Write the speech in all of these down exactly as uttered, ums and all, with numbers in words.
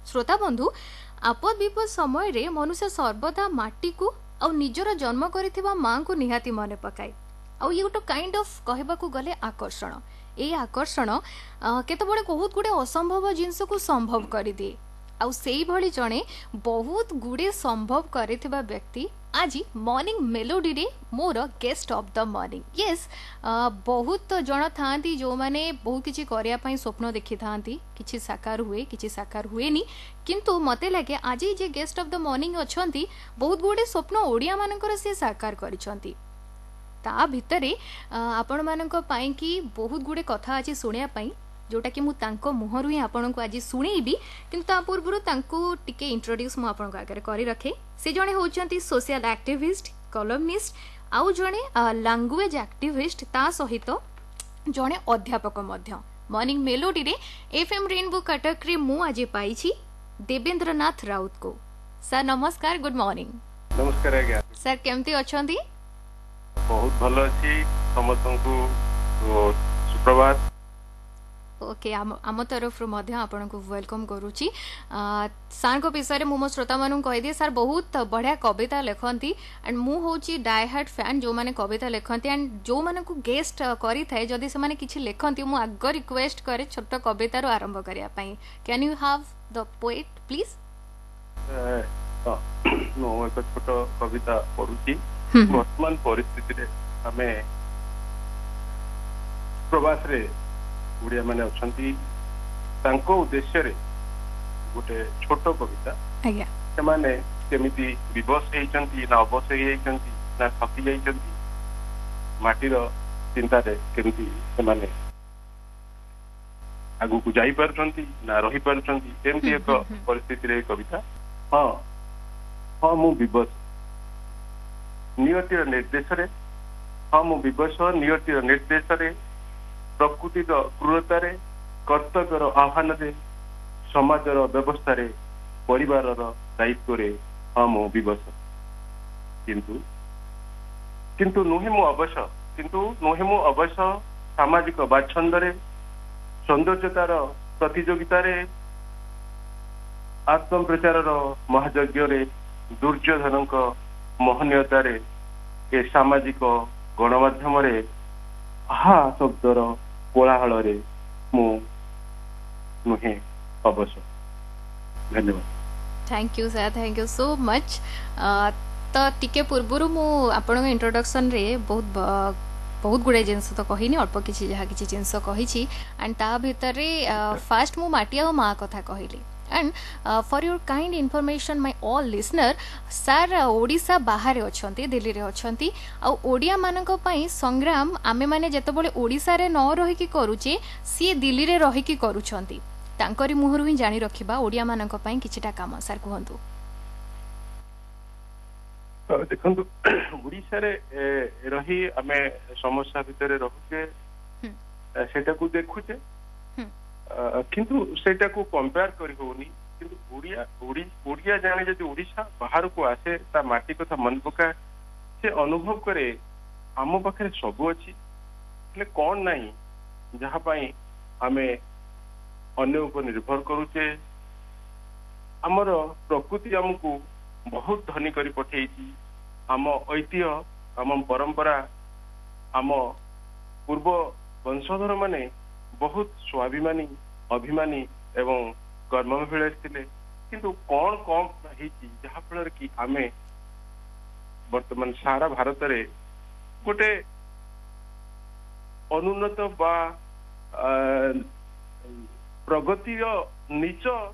ଶ୍ରୋତା ବନ୍ଧୁ, ଆପଦ ବିପଦ ସମୟରେ ମନୁଷ୍ୟ ସର୍ବଦା ମାଟିକୁ ଆଉ ନିଜର ଜନ୍ମ କରିଥିବା ମାଙ୍କୁ ନିହାତି ମନେ ପକାଏ। ଆଉ ଇଏ ଗୋଟେ କାଇଣ୍ଡ ଅଫ୍ କହିବାକୁ ଗଲେ ଆକର୍ଷଣ। ଏଇ ଆକର୍ଷଣ କେତେବେଳେ ବହୁତ ଗୁଡ଼େ ଅସମ୍ଭବ ଜିନିଷକୁ ସମ୍ଭବ କରିଦିଏ। ଆଉ ସେଇଭଳି ଜଣେ ବହୁତ ଗୁଡ଼େ ସମ୍ଭବ କରିଥିବା ବ୍ୟକ୍ତି ଆଜି ମର୍ଣ୍ଣିଂ ମେଲୋଡିରେ ମୋର guest of the morning. Yes, ବହୁତ ଜଣ ଥାଆନ୍ତି ଯେଉଁମାନେ ବହୁତ କିଛି କରିବା ପାଇଁ ସ୍ୱପ୍ନ ଦେଖିଥାନ୍ତି, କିଛି ସାକାର ହୁଏ, କିଛି ସାକାର ହୁଏନି। କିନ୍ତୁ ମୋତେ ଲାଗେ ଆଜି ଯେ ଗେଷ୍ଟ ଅଫ୍ the morning ଅଛନ୍ତି, ବହୁତ ଗୁଡ଼ିଏ ସ୍ୱପ୍ନ ଓଡ଼ିଆମାନଙ୍କର ସିଏ ସାକାର କରିଛନ୍ତି। ତା ଭିତରେ ଆପଣମାନଙ୍କ ପାଇଁକି ବହୁତ ଗୁଡ଼ିଏ କଥା ଅଛି ଶୁଣିବା ପାଇଁ, ଯେଉଁଟାକି ମୁଁ ତାଙ୍କ ମୁହଁରୁ ହିଁ ଆପଣଙ୍କୁ ଆଜି ଶୁଣେଇବି। କିନ୍ତୁ ତା ପୂର୍ବରୁ ତାଙ୍କୁ ଟିକେ ଇଣ୍ଟ୍ରୋଡ୍ୟୁସ୍ ମୁଁ ଆପଣଙ୍କ ଆଗରେ କରି ରଖେ। ସେ ଜଣେ ହେଉଛନ୍ତି ସୋସିଆଲ ଆକ୍ଟିଭିଷ୍ଟ, କଲମନିଷ୍ଟ ଆଉ ଜଣେ ଲାଙ୍ଗୁଏଜ ଆକ୍ଟିଭିଷ୍ଟ, ତା ସହିତ ଜଣେ ଅଧ୍ୟାପକ ମଧ୍ୟ। ମର୍ଣ୍ଣିଂ ମେଲୋଡିରେ ଏଫ୍ ଏମ୍ ରେନବୋ କଟକରେ ମୁଁ ଆଜି ପାଇଛି ଦେବେନ୍ଦ୍ରନାଥ ରାଉତକୁ। ସାର୍ ନମସ୍କାର, ଗୁଡ୍ ମର୍ଣ୍ଣିଂ। ନମସ୍କାର ଆଜ୍ଞା। ସାର୍ କେମିତି ଅଛନ୍ତି? ବହୁତ ଭଲ ଅଛି, ସମସ୍ତଙ୍କୁ ସୁପ୍ରଭାତ। ଓକେ, ଆମ ଆମ ତରଫରୁ ମଧ୍ୟ ଆପଣଙ୍କୁ welcome କରୁଛି। ସାର୍ଙ୍କ ବିଷୟରେ ମୁଁ ମୋ ଶ୍ରୋତାମାନଙ୍କୁ କହିଦିଏ, ସାର୍ ବହୁତ ବଢ଼ିଆ କବିତା ଲେଖନ୍ତି ଆଣ୍ଡ ମୁଁ ହେଉଛି ଡାଏ ହାର୍ଟ ଫ୍ୟାନ୍ ଯେଉଁମାନେ କବିତା ଲେଖନ୍ତି। ଆଣ୍ଡ ଯେଉଁମାନଙ୍କୁ ଗେଷ୍ଟ କରିଥାଏ, ଯଦି ସେମାନେ କିଛି ଲେଖନ୍ତି, ମୁଁ ଆଗ ରିକ୍ୱେଷ୍ଟ କରେ ଛୋଟ କବିତାରୁ ଆରମ୍ଭ କରିବା ପାଇଁ। Can you have the poet please? ମୁଁ ଏକ ଛୋଟ କବିତା ପଢୁଛି। ବର୍ତ୍ତମାନ ପରିସ୍ଥିତିରେ ଆମେ ପ୍ରବାସରେ ଓଡ଼ିଆ ମାନେ ଅଛନ୍ତି, ତାଙ୍କ ଉଦ୍ଦେଶ୍ୟରେ ଗୋଟେ ଛୋଟ କବିତା। ସେମାନେ କେମିତି ବିବଶ ହେଇଛନ୍ତି ନା ଅବଶ ହେଇଯାଇଛନ୍ତି ନା ଥକି ଯାଇଛନ୍ତି, ମାଟିର ଚିନ୍ତାରେ କେମିତି ସେମାନେ ଆଗକୁ ଯାଇପାରୁଛନ୍ତି ନା ରହିପାରୁଛନ୍ତି, ଏମିତି ଏକ ପରିସ୍ଥିତିରେ କବିତା। ହଁ ହଁ ମୁଁ ବିବଶ ନିୟତିର ନିର୍ଦ୍ଦେଶରେ, ହଁ ମୁଁ ବିବଶ ନିୟତିର ନିର୍ଦ୍ଦେଶରେ, ପ୍ରକୃତିର କ୍ରୂରତାରେ, କର୍ତ୍ତବ୍ୟର ଆହ୍ୱାନରେ, ସମାଜର ବ୍ୟବସ୍ଥାରେ, ପରିବାରର ଦାୟିତ୍ୱରେ, ହଁ ମୁଁ ବିବଶ। କିନ୍ତୁ କିନ୍ତୁ ନୁହେଁ ମୁଁ ଅବଶ, କିନ୍ତୁ ନୁହେଁ ମୁଁ ଅବଶ ସାମାଜିକ ବାଛନ୍ଦରେ, ସୌନ୍ଦର୍ଯ୍ୟତାର ପ୍ରତିଯୋଗିତାରେ, ଆତ୍ମପ୍ରଚାରର ମହାଯଜ୍ଞରେ, ଦୁର୍ଯ୍ୟୋଧନଙ୍କ ମହନୀୟତାରେ, ଏ ସାମାଜିକ ଗଣମାଧ୍ୟମରେ, ଆହା ଶବ୍ଦର କୋଳାହଳରେ ମୁଁ ନୁହେଁ ଅବଶ। ଧନ୍ୟବାଦ। Thank you sir, thank you so much. ତ ଟିକେ ପୂର୍ବରୁ ମୁଁ ଆପଣଙ୍କ ଇଣ୍ଟ୍ରୋଡକ୍ସନରେ ବହୁତ ବହୁତ ଗୁଡ଼ାଏ ଜିନିଷ ତ କହିନି, ଅଳ୍ପ କିଛି ଯାହା କିଛି ଜିନିଷ କହିଛି। ଆଣ୍ଡ ତା ଭିତରେ ଫାଷ୍ଟ ମୁଁ ମାଟି ଆଉ ମା କଥା କହିଲି। And for your kind information my all listener, sir Odisha ବାହାରେ ଅଛନ୍ତି, ଦିଲ୍ଲୀରେ ଅଛନ୍ତି। ଆଉ ଓଡ଼ିଆମାନଙ୍କ ପାଇଁ ସଂଗ୍ରାମ ଆମେମାନେ ଯେତେବେଳେ ଓଡ଼ିଶାରେ ନ ରହିକି କରୁଛେ, ସିଏ ଦିଲ୍ଲୀରେ ରହିକି କରୁଛନ୍ତି। ତାଙ୍କରି ମୁହଁରୁ ହିଁ ଜାଣି ରଖିବା ଓଡ଼ିଆମାନଙ୍କ ପାଇଁ କିଛିଟା କାମ। ସାର୍ କୁହନ୍ତୁ। ଦେଖନ୍ତୁ, ଓଡ଼ିଶାରେ ରହି ଆମେ ସମସ୍ୟା ଭିତରେ ରହୁଛେ, ସେଇଟାକୁ ଦେଖୁଛେ, କିନ୍ତୁ ସେଇଟାକୁ କମ୍ପେୟାର କରି ହଉନି। କିନ୍ତୁ ଓଡ଼ିଆ ଓଡ଼ିଆ ଜାଣେ ଯଦି ଓଡ଼ିଶା ବାହାରକୁ ଆସେ, ତା ମାଟି କଥା ମନେ ପକାଏ, ସେ ଅନୁଭବ କରେ ଆମ ପାଖରେ ସବୁ ଅଛି, ହେଲେ କଣ ନାହିଁ ଯାହା ପାଇଁ ଆମେ ଅନ୍ୟ ଉପରେ ନିର୍ଭର କରୁଛେ। ଆମର ପ୍ରକୃତି ଆମକୁ ବହୁତ ଧନୀ କରି ପଠେଇଛି। ଆମ ଐତିହ୍ୟ, ଆମ ପରମ୍ପରା, ଆମ ପୂର୍ବ ବଂଶଧର ମାନେ ବହୁତ ସ୍ୱାଭିମାନୀ, ଅଭିମାନୀ ଏବଂ କର୍ମଭିଳାଷୀ ଥିଲେ। କିନ୍ତୁ କଣ କମ ହେଇଛି ଯାହା ଫଳରେ କି ଆମେ ବର୍ତ୍ତମାନ ସାରା ଭାରତରେ ଗୋଟେ ଅନୁନ୍ନତ ବା ପ୍ରଗତିର ନିଚ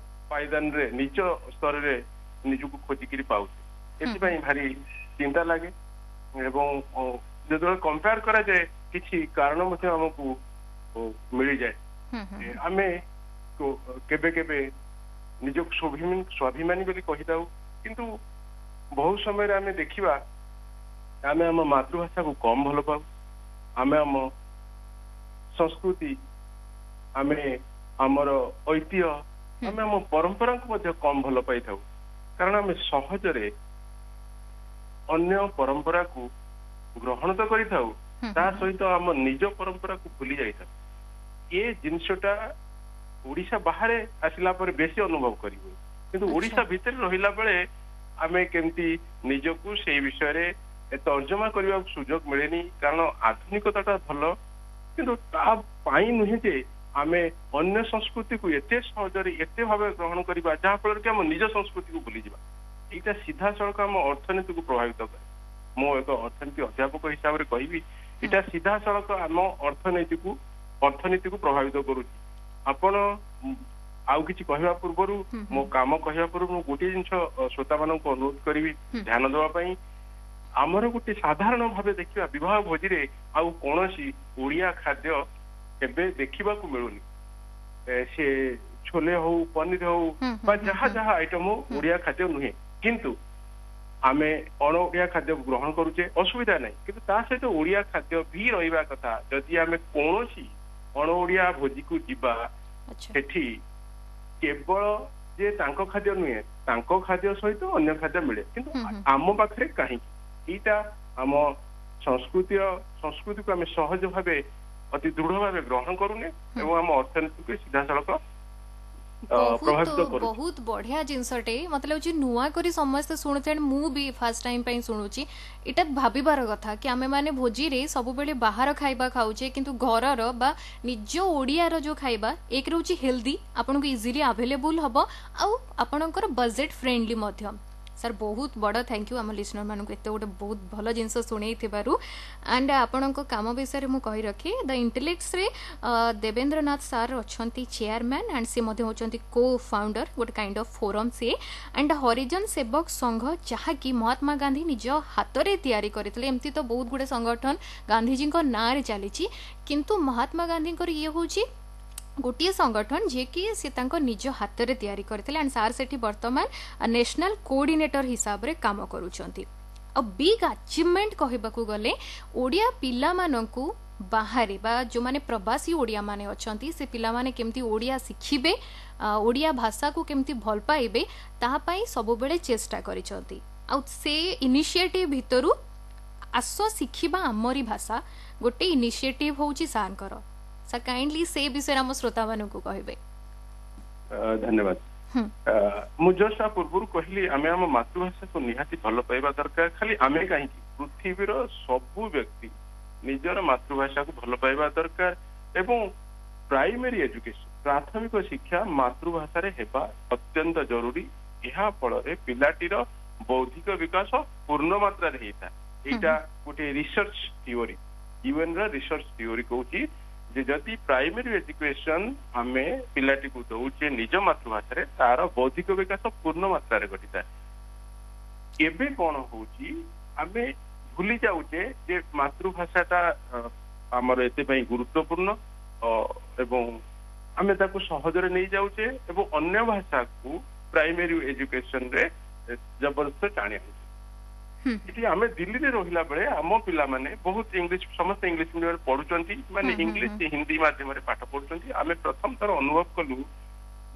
ପାଇଦାନରେ, ନିଚ ସ୍ତରରେ ନିଜକୁ ଖୋଜିକିରି ପାଉଛେ, ଏଥିପାଇଁ ଭାରି ଚିନ୍ତା ଲାଗେ। ଏବଂ ଯେତେବେଳେ କମ୍ପେୟାର କରାଯାଏ, କିଛି କାରଣ ମଧ୍ୟ ଆମକୁ ମିଳିଯାଏ। ଆମେ କେବେ କେବେ ନିଜକୁ ସ୍ୱାଭିମାନୀ ବୋଲି କହିଥାଉ, କିନ୍ତୁ ବହୁ ସମୟରେ ଆମେ ଦେଖିବା ଆମେ ଆମ ମାତୃଭାଷାକୁ କମ ଭଲ ପାଉ, ଆମେ ଆମ ସଂସ୍କୃତି, ଆମେ ଆମର ଐତିହ୍ୟ, ଆମେ ଆମ ପରମ୍ପରାକୁ ମଧ୍ୟ କମ ଭଲ ପାଇଥାଉ। କାରଣ ଆମେ ସହଜରେ ଅନ୍ୟ ପରମ୍ପରାକୁ ଗ୍ରହଣ ତ କରିଥାଉ, ତା ସହିତ ଆମ ନିଜ ପରମ୍ପରାକୁ ଭୁଲି ଯାଇଥାଉ। ଏ ଜିନିଷଟା ଓଡିଶା ବାହାରେ ଆସିଲା ପରେ ବେଶୀ ଅନୁଭବ କରିହୁଏ, କିନ୍ତୁ ଓଡିଶା ଭିତରେ ରହିଲା ବେଳେ ଆମେ କେମିତି ନିଜକୁ ସେଇ ବିଷୟରେ ତର୍ଜମା କରିବାକୁ ସୁଯୋଗ ମିଳେନି। କାରଣ ଆଧୁନିକତାଟା ଭଲ, କିନ୍ତୁ ତା ପାଇଁ ନୁହେଁ ଯେ ଆମେ ଅନ୍ୟ ସଂସ୍କୃତିକୁ ଏତେ ସହଜରେ ଏତେ ଭାବେ ଗ୍ରହଣ କରିବା ଯାହା ଫଳରେ କି ଆମ ନିଜ ସଂସ୍କୃତିକୁ ଭୁଲିଯିବା। ଏଇଟା ସିଧାସଳଖ ଆମ ଅର୍ଥନୀତିକୁ ପ୍ରଭାବିତ କରେ। ମୁଁ ଏକ ଅର୍ଥନୀତି ଅଧ୍ୟାପକ ହିସାବରେ କହିବି, ଏଇଟା ସିଧାସଳଖ ଆମ ଅର୍ଥନୀତିକୁ ଅର୍ଥନୀତିକୁ ପ୍ରଭାବିତ କରୁଛି। ଆପଣ ଆଉ କିଛି କହିବା ପୂର୍ବରୁ, ମୋ କାମ କହିବା ପୂର୍ବରୁ ମୁଁ ଗୋଟିଏ ଜିନିଷ ଶ୍ରୋତାମାନଙ୍କୁ ଅନୁରୋଧ କରିବି ଧ୍ୟାନ ଦେବା ପାଇଁ। ଆମର ଗୋଟେ ସାଧାରଣ ଭାବେ ଦେଖିବା, ବିବାହ ଭୋଜିରେ ଆଉ କୌଣସି ଓଡିଆ ଖାଦ୍ୟ ଏବେ ଦେଖିବାକୁ ମିଳୁନି। ସେ ଛୋଲେ ହଉ, ପନିର ହଉ ବା ଯାହା ଯାହା ଆଇଟମ ହଉ, ଓଡିଆ ଖାଦ୍ୟ ନୁହେଁ। କିନ୍ତୁ ଆମେ ଅଣ ଓଡିଆ ଖାଦ୍ୟ ଗ୍ରହଣ କରୁଛେ, ଅସୁବିଧା ନାହିଁ, କିନ୍ତୁ ତା ସହିତ ଓଡିଆ ଖାଦ୍ୟ ବି ରହିବା କଥା। ଯଦି ଆମେ କୌଣସି ଅଣ ଓଡିଆ ଭୋଜିକୁ ଯିବା, ସେଠି କେବଳ ଯେ ତାଙ୍କ ଖାଦ୍ୟ ନୁହେଁ, ତାଙ୍କ ଖାଦ୍ୟ ସହିତ ଅନ୍ୟ ଖାଦ୍ୟ ମିଳେ, କିନ୍ତୁ ଆମ ପାଖରେ କାହିଁକି? ଏଇଟା ଆମ ସଂସ୍କୃତିର ସଂସ୍କୃତିକୁ ଆମେ ସହଜ ଭାବେ ଅତି ଦୃଢ ଭାବେ ଗ୍ରହଣ କରୁନେ ଏବଂ ଆମ ଅର୍ଥନୀତିକୁ ସିଧାସଳଖ ବହୁତ ବହୁତ ବଢିଆ ଜିନିଷଟେ। ମତେ ଲାଗୁଛି ନୂଆ କରି ସମସ୍ତେ ଶୁଣୁଥିବେ, ମୁଁ ବି ଫାର୍ଷ୍ଟ ଟାଇମ୍ ପାଇଁ ଶୁଣୁଛି। ଏଇଟା ଭାବିବାର କଥା କି ଆମେ ମାନେ ଭୋଜିରେ ସବୁବେଳେ ବାହାର ଖାଇବା ଖାଉଛେ, କିନ୍ତୁ ଘରର ବା ନିଜ ଓଡ଼ିଆର ଯୋଉ ଖାଇବା, ଏକ ରହୁଛି ହେଲ୍ଦି, ଆପଣଙ୍କୁ ଇଜିଲି ଆଭେଲେବୁଲ ହବ ଆଉ ଆପଣଙ୍କର ବଜେଟ୍ ଫ୍ରେଣ୍ଡଲି ମଧ୍ୟ। ସାର୍, ବହୁତ ବଡ଼ thank you ଆମ ଲିସନର ମାନଙ୍କୁ ଏତେ ଗୋଟେ ବହୁତ ଭଲ ଜିନିଷ ଶୁଣେଇଥିବାରୁ। ଆଣ୍ଡ ଆପଣଙ୍କ କାମ ବିଷୟରେ ମୁଁ କହି ରଖେ, ଦ ଇଣ୍ଟେଲେକ୍ସରେ ଦେବେନ୍ଦ୍ରନାଥ ସାର୍ ଅଛନ୍ତି ଚେୟାରମ୍ୟାନ୍ ଆଣ୍ଡ ସେ ମଧ୍ୟ ହେଉଛନ୍ତି କୋ ଫାଉଣ୍ଡର, ଗୋଟେ କାଇଣ୍ଡ ଅଫ୍ ଫୋରମ୍ ସିଏ। ଆଣ୍ଡ ହରିଜନ ସେବକ ସଂଘ, ଯାହାକି ମହାତ୍ମା ଗାନ୍ଧୀ ନିଜ ହାତରେ ତିଆରି କରିଥିଲେ। ଏମିତି ତ ବହୁତ ଗୁଡ଼େ ସଂଗଠନ ଗାନ୍ଧିଜୀଙ୍କ ନାଁରେ ଚାଲିଛି, କିନ୍ତୁ ମହାତ୍ମା ଗାନ୍ଧୀଙ୍କର ଇଏ ହେଉଛି ଗୋଟିଏ ସଂଗଠନ ଯିଏକି ସେ ତାଙ୍କ ନିଜ ହାତରେ ତିଆରି କରିଥିଲେ। ଆଣ୍ଡ ସାର୍ ସେଠି ବର୍ତ୍ତମାନ ନ୍ୟାସନାଲ କୋଅର୍ଡିନେଟର ହିସାବରେ କାମ କରୁଛନ୍ତି। ଆଉ ବିଗ୍ ଆଚିଭମେଣ୍ଟ କହିବାକୁ ଗଲେ, ଓଡ଼ିଆ ପିଲାମାନଙ୍କୁ ବାହାରେ ବା ଯେଉଁମାନେ ପ୍ରବାସୀ ଓଡ଼ିଆମାନେ ଅଛନ୍ତି, ସେ ପିଲାମାନେ କେମିତି ଓଡ଼ିଆ ଶିଖିବେ, ଓଡ଼ିଆ ଭାଷାକୁ କେମିତି ଭଲ ପାଇବେ, ତାହା ପାଇଁ ସବୁବେଳେ ଚେଷ୍ଟା କରିଛନ୍ତି। ଆଉ ସେ ଇନିସିଏଟିଭ୍ ଭିତରୁ ଆସ ଶିଖିବା ଆମରି ଭାଷା ଗୋଟେ ଇନିସିଏଟିଭ୍ ହେଉଛି ସାର୍ଙ୍କର। ସାର୍, କାଇଣ୍ଡଲି ସେ ବିଷୟରେ ଆମ ଶ୍ରୋତାମାନଙ୍କୁ କହିବେ। ଧନ୍ୟବାଦ। ମୁଁ ଜଷ୍ଟ ତା ପୂର୍ବରୁ କହିଲି, ଆମେ ଆମ ମାତୃଭାଷାକୁ ନିହାତି ଭଲ ପାଇବା ଦରକାର। ଖାଲି ଆମେ କାହିଁକି, ପୃଥିବୀର ସବୁ ବ୍ୟକ୍ତି ନିଜର ମାତୃଭାଷାକୁ ଭଲ ପାଇବା ଦରକାର ଏବଂ ପ୍ରାଇମେରୀ ଏଜୁକେସନ, ପ୍ରାଥମିକ ଶିକ୍ଷା ମାତୃଭାଷାରେ ହେବା ଅତ୍ୟନ୍ତ ଜରୁରୀ। ଏହା ଫଳରେ ପିଲାଟିର ବୌଦ୍ଧିକ ବିକାଶ ପୂର୍ଣ୍ଣ ମାତ୍ରାରେ ହେଇଥାଏ। ଏଇଟା ଗୋଟେ ରିସର୍ଚ୍ଚ ଥିଓରି, ୟୁଏନ ର ରିସର୍ଚ୍ଚ ଥିଓରି କହୁଛି ଯେ ଯଦି ପ୍ରାଇମେରୀ ଏଜୁକେସନ ଆମେ ପିଲାଟିକୁ ଦଉଛେ ନିଜ ମାତୃଭାଷାରେ, ତାର ବୌଦ୍ଧିକ ବିକାଶ ପୂର୍ଣ୍ଣ ମାତ୍ରାରେ ଘଟିଥାଏ। ଏବେ କଣ ହଉଛି, ଆମେ ଭୁଲି ଯାଉଛେ ଯେ ମାତୃଭାଷାଟା ଆମର ଏଥିପାଇଁ ଗୁରୁତ୍ୱପୂର୍ଣ୍ଣ ଏବଂ ଆମେ ତାକୁ ସହଜରେ ନେଇଯାଉଛେ ଏବଂ ଅନ୍ୟ ଭାଷାକୁ ପ୍ରାଇମେରୀ ଏଜୁକେସନରେ ଜବରଦସ୍ତ ଟାଣି ଆଣୁଛେ। ଏଠି ଆମେ ଦିଲ୍ଲୀରେ ରହିଲା ବେଳେ ଆମ ପିଲାମାନେ ବହୁତ ଇଂଲିଶ, ସମସ୍ତେ ଇଂଲିଶ ମିଡିୟମରେ ପଢୁଛନ୍ତି, ମାନେ ଇଂଲିଶ ହିନ୍ଦୀ ମାଧ୍ୟମରେ ପାଠ ପଢୁଛନ୍ତି। ଆମେ ପ୍ରଥମ ଥର ଅନୁଭବ କଲୁ,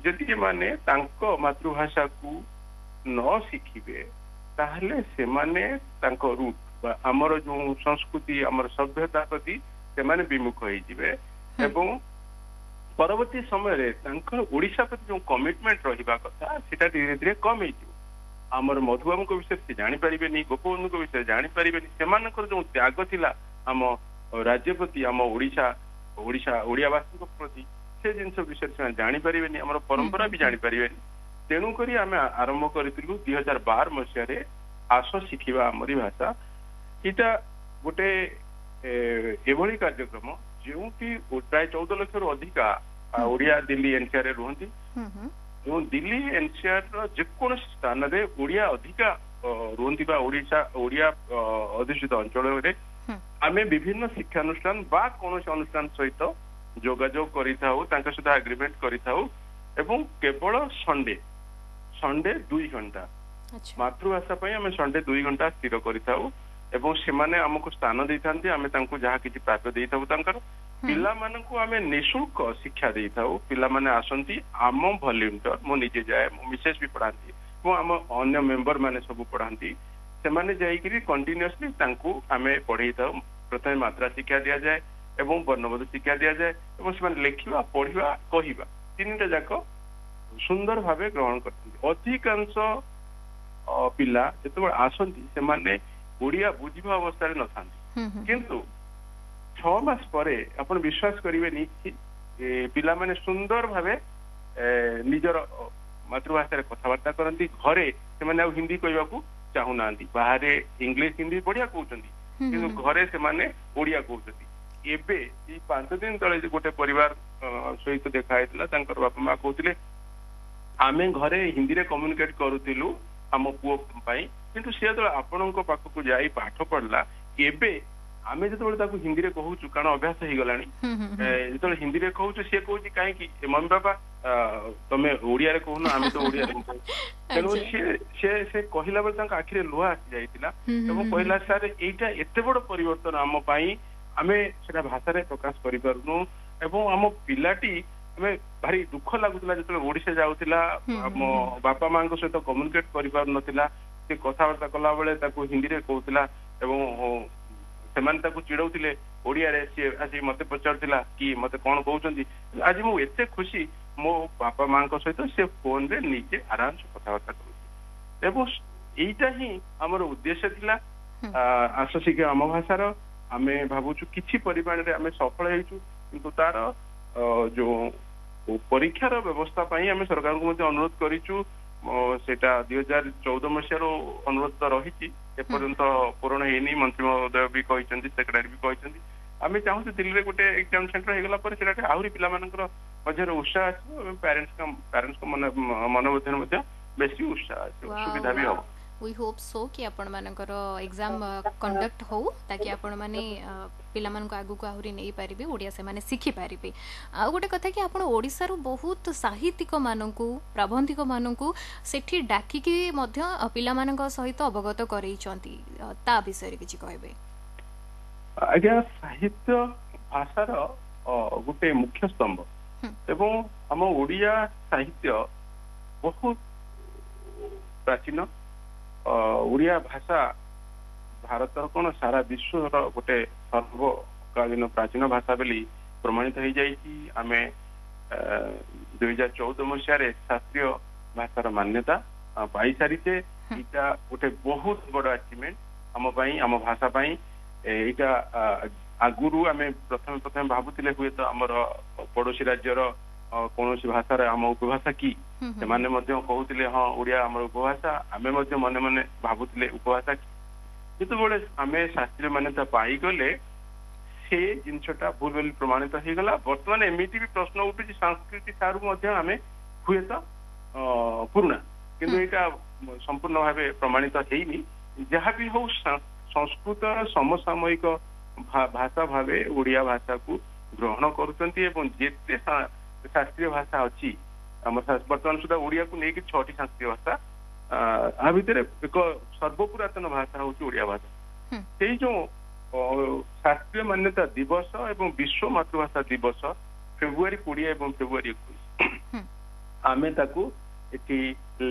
ଯଦି ଏମାନେ ତାଙ୍କ ମାତୃଭାଷାକୁ ନ ଶିଖିବେ, ତାହେଲେ ସେମାନେ ତାଙ୍କ ରୁଟ ବା ଆମର ଯୋଉ ସଂସ୍କୃତି, ଆମର ସଭ୍ୟତା ପ୍ରତି ସେମାନେ ବିମୁଖ ହେଇଯିବେ ଏବଂ ପରବର୍ତ୍ତୀ ସମୟରେ ତାଙ୍କର ଓଡିଶା ପ୍ରତି ଯୋଉ କମିଟମେଣ୍ଟ ରହିବା କଥା, ସେଟା ଧୀରେ ଧୀରେ କମ ହେଇଯିବ। ଆମର ମଧୁବାବୁଙ୍କ ବିଷୟରେ ସେ ଜାଣିପାରିବେନି, ଗୋପବନ୍ଧୁଙ୍କ ବିଷୟରେ ଜାଣିପାରିବେନି। ସେମାନଙ୍କର ଯୋଉ ତ୍ୟାଗ ଥିଲା ଆମ ରାଜ୍ୟ ପ୍ରତି, ଆମ ଓଡିଶା ଓଡିଶା ଓଡିଆବାସୀଙ୍କ ପ୍ରତି, ସେ ଜିନିଷ ବିଷୟରେ ସେମାନେ ଜାଣିପାରିବେନି, ଆମର ପରମ୍ପରା ବି ଜାଣିପାରିବେନି। ତେଣୁକରି ଆମେ ଆରମ୍ଭ କରିଥିଲୁ ଦୁଇ ହଜାର ବାର ମସିହାରେ ଆସ ଶିଖିବା ଆମରି ଭାଷା। ଏଇଟା ଗୋଟେ ଏଭଳି କାର୍ଯ୍ୟକ୍ରମ ଯେଉଁଠି ପ୍ରାୟ ଚଉଦ ଲକ୍ଷରୁ ଅଧିକା ଓଡିଆ ଦିଲ୍ଲୀ ଏନସିଆର ରେ ରୁହନ୍ତି ଏବଂ ଦିଲ୍ଲୀ ଏନସିଆର ର ଯେକୌଣସି ସ୍ଥାନରେ ଓଡିଆ ଅଧିକା ରୁହନ୍ତି ବା ଓଡିଶା ଓଡିଆ ଅଧ୍ୟୁଷିତ ଅଞ୍ଚଳରେ ଆମେ ବିଭିନ୍ନ ଶିକ୍ଷାନୁଷ୍ଠାନ ବା କୌଣସି ଅନୁଷ୍ଠାନ ସହିତ ଯୋଗାଯୋଗ କରିଥାଉ, ତାଙ୍କ ସହିତ ଆଗ୍ରିମେଣ୍ଟ କରିଥାଉ ଏବଂ କେବଳ ସଣ୍ଡେ ସଣ୍ଡେ ଦୁଇ ଘଣ୍ଟା ମାତୃଭାଷା ପାଇଁ ଆମେ ସଣ୍ଡେ ଦୁଇ ଘଣ୍ଟା ସ୍ଥିର କରିଥାଉ ଏବଂ ସେମାନେ ଆମକୁ ସ୍ଥାନ ଦେଇଥାନ୍ତି, ଆମେ ତାଙ୍କୁ ଯାହା କିଛି ପ୍ରାପ୍ୟ ଦେଇଥାଉ। ତାଙ୍କର ପିଲାମାନଙ୍କୁ ଆମେ ନିଃଶୁଳ୍କ ଶିକ୍ଷା ଦେଇଥାଉ। ପିଲାମାନେ ଆସନ୍ତି, ଆମ ଭଲ୍ୟୁଣ୍ଟର, ମୁଁ ନିଜେ ଯାଏ, ମୋ ମିସେସ୍ ବି ପଢାନ୍ତି ଏବଂ ଆମ ଅନ୍ୟ ମେମ୍ବର ମାନେ ସବୁ ପଢାନ୍ତି। ସେମାନେ ଯାଇକିରି କଣ୍ଟିନ୍ୟୁଅସଲି ତାଙ୍କୁ ଆମେ ପଢେଇଥାଉ। ପ୍ରଥମେ ମାତ୍ରା ଶିକ୍ଷା ଦିଆଯାଏ ଏବଂ ବର୍ଣ୍ଣବୋଧ ଶିକ୍ଷା ଦିଆଯାଏ ଏବଂ ସେମାନେ ଲେଖିବା, ପଢିବା, କହିବା ତିନିଟା ଯାକ ସୁନ୍ଦର ଭାବେ ଗ୍ରହଣ କରିଥାନ୍ତି। ଅଧିକାଂଶ ପିଲା ଯେତେବେଳେ ଆସନ୍ତି ସେମାନେ ଓଡ଼ିଆ ବୁଝିବା ଅବସ୍ଥାରେ ନଥାନ୍ତି, କିନ୍ତୁ ଛଅ ମାସ ପରେ ଆପଣ ବିଶ୍ୱାସ କରିବେନି ପିଲାମାନେ ସୁନ୍ଦର ଭାବେ ନିଜର ମାତୃଭାଷାରେ କଥାବାର୍ତ୍ତା କରନ୍ତି। ଘରେ ସେମାନେ ଆଉ ହିନ୍ଦୀ କହିବାକୁ ଚାହୁଁନାହାନ୍ତି, ବାହାରେ ଇଂଲିଶ ହିନ୍ଦୀ ବଢିଆ କହୁଛନ୍ତି, କିନ୍ତୁ ଘରେ ସେମାନେ ଓଡ଼ିଆ କହୁଛନ୍ତି। ଏବେ ଏଇ ପାଞ୍ଚ ଦିନ ତଳେ ଗୋଟେ ପରିବାର ସହିତ ଦେଖା ହେଇଥିଲା, ତାଙ୍କର ବାପା ମା କହୁଥିଲେ ଆମେ ଘରେ ହିନ୍ଦୀରେ କମ୍ୟୁନିକେଟ କରୁଥିଲୁ ଆମ ପୁଅ ପାଇଁ, କିନ୍ତୁ ସେ ଯେତେବେଳେ ଆପଣଙ୍କ ପାଖକୁ ଯାଇ ପାଠ ପଢିଲା, ଏବେ ଆମେ ଯେତେବେଳେ ତାକୁ ହିନ୍ଦୀରେ କହୁଛୁ, କାରଣ ଅଭ୍ୟାସ ହେଇଗଲାଣି, ଯେତେବେଳେ ହିନ୍ଦୀରେ କହୁଛୁ ସିଏ କହୁଛି କାହିଁକି ମମି ବାପା ତମେ ଓଡ଼ିଆରେ କହୁନ, ଆମେ ତ ଓଡ଼ିଆରେ କହୁଛୁ। ତେଣୁ ସିଏ ସେ ସେ କହିଲା ବେଳେ ତାଙ୍କ ଆଖିରେ ଲୁହ ଆସି ଯାଇଥିଲା ଏବଂ କହିଲା ସାର୍ ଏଇଟା ଏତେ ବଡ ପରିବର୍ତ୍ତନ ଆମ ପାଇଁ, ଆମେ ସେଟା ଭାଷାରେ ପ୍ରକାଶ କରିପାରୁନୁ। ଏବଂ ଆମ ପିଲାଟି ଆମେ ଭାରି ଦୁଃଖ ଲାଗୁଥିଲା ଯେତେବେଳେ ଓଡିଶା ଯାଉଥିଲା, ଆମ ବାପା ମାଙ୍କ ସହିତ କମ୍ୟୁନିକେଟ କରିପାରୁନଥିଲା, ସେ କଥାବାର୍ତ୍ତା କଲା ବେଳେ ତାକୁ ହିନ୍ଦୀରେ କହୁଥିଲା ଏବଂ ସେମାନେ ତାକୁ ଚିଡଉଥିଲେ ଓଡ଼ିଆରେ, ସିଏ ଆସି ମତେ ପଚାରୁଥିଲା କି ମତେ କଣ କହୁଛନ୍ତି। ଆଜି ମୁଁ ଏତେ ଖୁସି, ମୋ ବାପା ମାଙ୍କ ସହିତ ସେ ଫୋନରେ ନିଜେ ଆରାମସେ କଥାବାର୍ତ୍ତା କରୁଛି। ଏବଂ ଏଇଟା ହିଁ ଆମର ଉଦ୍ଦେଶ୍ୟ ଥିଲା ଆସ ଶିଖ ଆମ ଭାଷାର। ଆମେ ଭାବୁଛୁ କିଛି ପରିମାଣରେ ଆମେ ସଫଳ ହେଇଛୁ, କିନ୍ତୁ ତାର ଯୋଉ ପରୀକ୍ଷାର ବ୍ୟବସ୍ଥା ପାଇଁ ଆମେ ସରକାରଙ୍କୁ ମଧ୍ୟ ଅନୁରୋଧ କରିଛୁ। ସେଇଟା ଦୁଇ ହଜାର ଚଉଦ ମସିହାରୁ ଅନୁରୋଧ ତ ରହିଛି, ଏପର୍ଯ୍ୟନ୍ତ ପୂରଣ ହେଇନି। ମନ୍ତ୍ରୀ ମହୋଦୟ ବି କହିଛନ୍ତି, ସେକ୍ରେଟାରୀ ବି କହିଛନ୍ତି। ଆମେ ଚାହୁଁଛୁ ଦିଲ୍ଲୀରେ ଗୋଟେ ଏକ୍ଜାମ ସେଣ୍ଟର ହେଇଗଲା ପରେ ସେଟା ଆହୁରି ପିଲାମାନଙ୍କର ମଧ୍ୟରେ ଉତ୍ସାହ ଆସିବ ଏବଂ ପ୍ୟାରେଣ୍ଟସଙ୍କ ପ୍ୟାରେଣ୍ଟସଙ୍କ ମନ ମନ ମଧ୍ୟରେ ମଧ୍ୟ ବେଶୀ ଉତ୍ସାହ ଆସିବ, ସୁବିଧା ବି ହବ। We hope so କି ଆପଣମାନଙ୍କର ଏକ୍ଜାମ୍ କଣ୍ଡକ୍ଟ ହଉ, ତାକି ଆପଣମାନେ ପିଲାମାନଙ୍କୁ ଆଗକୁ ଆହୁରି ନେଇପାରିବେ, ଓଡ଼ିଆ ସେମାନେ ଶିଖିପାରିବେ। ଆଉ ଗୋଟେ କଥା କି ଆପଣ ଓଡ଼ିଶାରୁ ବହୁତ ସାହିତ୍ୟିକମାନଙ୍କୁ, ପ୍ରାବନ୍ଧିକମାନଙ୍କୁ ସେଠି ଡାକିକି ମଧ୍ୟ ପିଲାମାନଙ୍କ ସହିତ ଅବଗତ କରେଇଛନ୍ତି, ତା ବିଷୟରେ କିଛି କହିବେ? ଆଜ୍ଞା, ସାହିତ୍ୟ ଭାଷାର ଗୋଟେ ମୁଖ୍ୟ ସ୍ତମ୍ଭ ଏବଂ ଆମ ଓଡ଼ିଆ ସାହିତ୍ୟ ବହୁତ ପ୍ରାଚୀନ। ଓଡ଼ିଆ ଭାଷା ଭାରତର କଣ ସାରା ବିଶ୍ୱର ଗୋଟେ ସର୍ବକାଳୀନ ପ୍ରାଚୀନ ଭାଷା ବୋଲି ପ୍ରମାଣିତ ହେଇଯାଇଛି। ଆମେ ଦୁଇ ହଜାର ଚଉଦ ମସିହାରେ ଶାସ୍ତ୍ରୀୟ ଭାଷାର ମାନ୍ୟତା ପାଇସାରିଛେ। ଏଇଟା ଗୋଟେ ବହୁତ ବଡ ଆଚିଭମେଣ୍ଟ ଆମ ପାଇଁ, ଆମ ଭାଷା ପାଇଁ। ଏଇଟା ଆଗରୁ ଆମେ ପ୍ରଥମେ ପ୍ରଥମେ ଭାବୁଥିଲେ ହୁଏତ ଆମର ପଡୋଶୀ ରାଜ୍ୟର କୌଣସି ଭାଷାର ଆମ ଉପଭାଷା କି, ସେମାନେ ମଧ୍ୟ କହୁଥିଲେ ହଁ ଓଡ଼ିଆ ଆମର ଉପଭାଷା, ଆମେ ମଧ୍ୟ ମନେ ମନେ ଭାବୁଥିଲେ ଉପଭାଷା କି। ଯେତେବେଳେ ଆମେ ଶାସ୍ତ୍ରୀୟ ମାନ୍ୟତା ପାଇଗଲେ ସେ ଜିନିଷଟା ଭୁଲ ବୋଲି ପ୍ରମାଣିତ ହେଇଗଲା। ବର୍ତ୍ତମାନ ଏମିତି ବି ପ୍ରଶ୍ନ ଉଠୁଛି ସଂସ୍କୃତି ଠାରୁ ମଧ୍ୟ ଆମେ ହୁଏତ ପୁରୁଣା, କିନ୍ତୁ ଏଇଟା ସମ୍ପୂର୍ଣ୍ଣ ଭାବେ ପ୍ରମାଣିତ ହେଇନି। ଯାହା ବି ହଉ, ସଂସ୍କୃତର ସମସାମୟିକ ଭାଷା ଭାବେ ଓଡ଼ିଆ ଭାଷାକୁ ଗ୍ରହଣ କରୁଛନ୍ତି ଏବଂ ଯେତେ ଶାସ୍ତ୍ରୀୟ ଭାଷା ଅଛି ଆମର ବର୍ତ୍ତମାନ ସୁଦ୍ଧା ଓଡ଼ିଆକୁ ନେଇକି ଛଅଟି ଶାସ୍ତ୍ରୀୟ ଭାଷା, ଆ ଭିତରେ ଏକ ସର୍ବପୁରାତନ ଭାଷା ହଉଛି ଓଡ଼ିଆ ଭାଷା। ସେଇ ଯୋଉ ଶାସ୍ତ୍ରୀୟ ମାନ୍ୟତା ଦିବସ ଏବଂ ବିଶ୍ୱ ମାତୃଭାଷା ଦିବସ ଫେବୃଆରୀ କୋଡ଼ିଏ ଏବଂ ଫେବୃଆରୀ ଏକୋଇଶ, ଆମେ ତାକୁ ଏଠି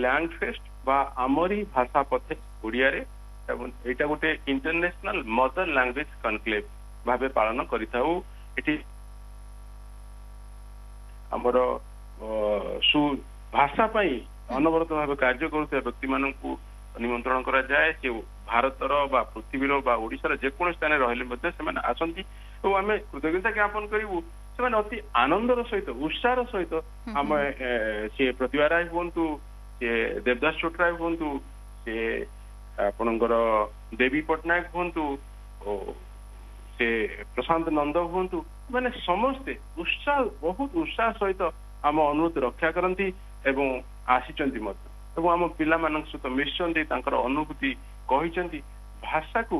ଲ୍ୟାଙ୍ଗ ଫେଷ୍ଟ ବା ଆମରି ଭାଷା ପଥେ ଓଡ଼ିଆରେ, ଏବଂ ଏଇଟା ଗୋଟେ ଇଣ୍ଟରନ୍ୟାସନାଲ ମଦର ଲାଙ୍ଗୁଏଜ କନକ୍ଲେଭ ଭାବେ ପାଳନ କରିଥାଉ। ଏଠି ଆମର ସୁ ଭାଷା ପାଇଁ ଅନବରତ ଭାବେ କାର୍ଯ୍ୟ କରୁଥିବା ବ୍ୟକ୍ତିମାନଙ୍କୁ ନିମନ୍ତ୍ରଣ କରାଯାଏ। ସେ ଭାରତର ବା ପୃଥିବୀର ବା ଓଡ଼ିଶାର ଯେକୌଣସି ସ୍ଥାନରେ ରହିଲେ ମଧ୍ୟ ସେମାନେ ଆସନ୍ତି ଏବଂ ଆମେ କୃତଜ୍ଞତା ଜ୍ଞାପନ କରିବୁ। ସେମାନେ ଅତି ଆନନ୍ଦର ସହିତ, ଉତ୍ସାହର ସହିତ, ଆମେ ସିଏ ପ୍ରତିଭା ରାୟ ହୁଅନ୍ତୁ, ସିଏ ଦେବଦାସ ଛୋଟରାୟ ହୁଅନ୍ତୁ, ସିଏ ଆପଣଙ୍କର ଦେବୀ ପଟ୍ଟନାୟକ ହୁଅନ୍ତୁ, ସେ ପ୍ରଶାନ୍ତ ନନ୍ଦ ହୁଅନ୍ତୁ, ମାନେ ସମସ୍ତେ ଉତ୍ସାହ, ବହୁତ ଉତ୍ସାହ ସହିତ ଆମ ଅନୁରୋଧ ରକ୍ଷା କରନ୍ତି ଏବଂ ଆସିଛନ୍ତି ମଧ୍ୟ ଏବଂ ଆମ ପିଲାମାନଙ୍କ ସହିତ ମିଶିଛନ୍ତି, ତାଙ୍କର ଅନୁଭୂତି କହିଛନ୍ତି। ଭାଷାକୁ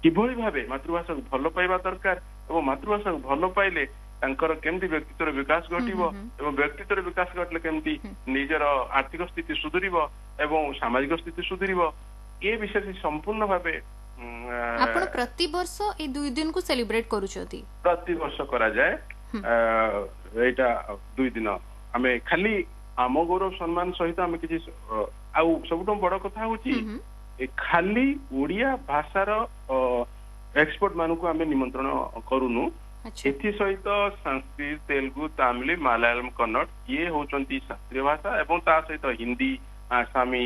କିଭଳି ଭାବେ ମାତୃଭାଷାକୁ ଭଲ ପାଇବା ଦରକାର ଏବଂ ମାତୃଭାଷାକୁ ଭଲ ପାଇଲେ ତାଙ୍କର କେମିତି ବ୍ୟକ୍ତିତ୍ୱର ବିକାଶ ଘଟିବ ଏବଂ ବ୍ୟକ୍ତିତ୍ୱର ବିକାଶ ଘଟିଲେ କେମିତି ନିଜର ଆର୍ଥିକ ସ୍ଥିତି ସୁଧୁରିବ ଏବଂ ସାମାଜିକ ସ୍ଥିତି ସୁଧୁରିବ, ଏ ବିଷୟରେ ସମ୍ପୂର୍ଣ୍ଣ ଭାବେ। ଆପଣ ପ୍ରତିବର୍ଷ ଏଇ ଦୁଇ ଦିନକୁ ସେଲିବ୍ରେଟ କରୁଛନ୍ତି? ପ୍ରତିବର୍ଷ କରାଯାଏ ଏଇଟା ଦୁଇ ଦିନ। ଆମେ ଖାଲି ଆମ ଗୌରବ ସମ୍ମାନ ସହିତ ଆମେ କିଛି, ଆଉ ସବୁଠୁ ବଡ କଥା ହଉଛି ଖାଲି ଓଡ଼ିଆ ଭାଷାର ଏକ୍ସପର୍ଟ ମାନଙ୍କୁ ଆମେ ନିମନ୍ତ୍ରଣ କରୁନୁ, ଏଥିସହିତ ସାଂସ୍କ୍ରିଟ, ତେଲୁଗୁ, ତାମିଲ, ମାଲାୟାଲମ, କନ୍ନଡ ଇଏ ହଉଛନ୍ତି ଶାସ୍ତ୍ରୀୟ ଭାଷା ଏବଂ ତା ସହିତ ହିନ୍ଦୀ, ଆସାମୀ,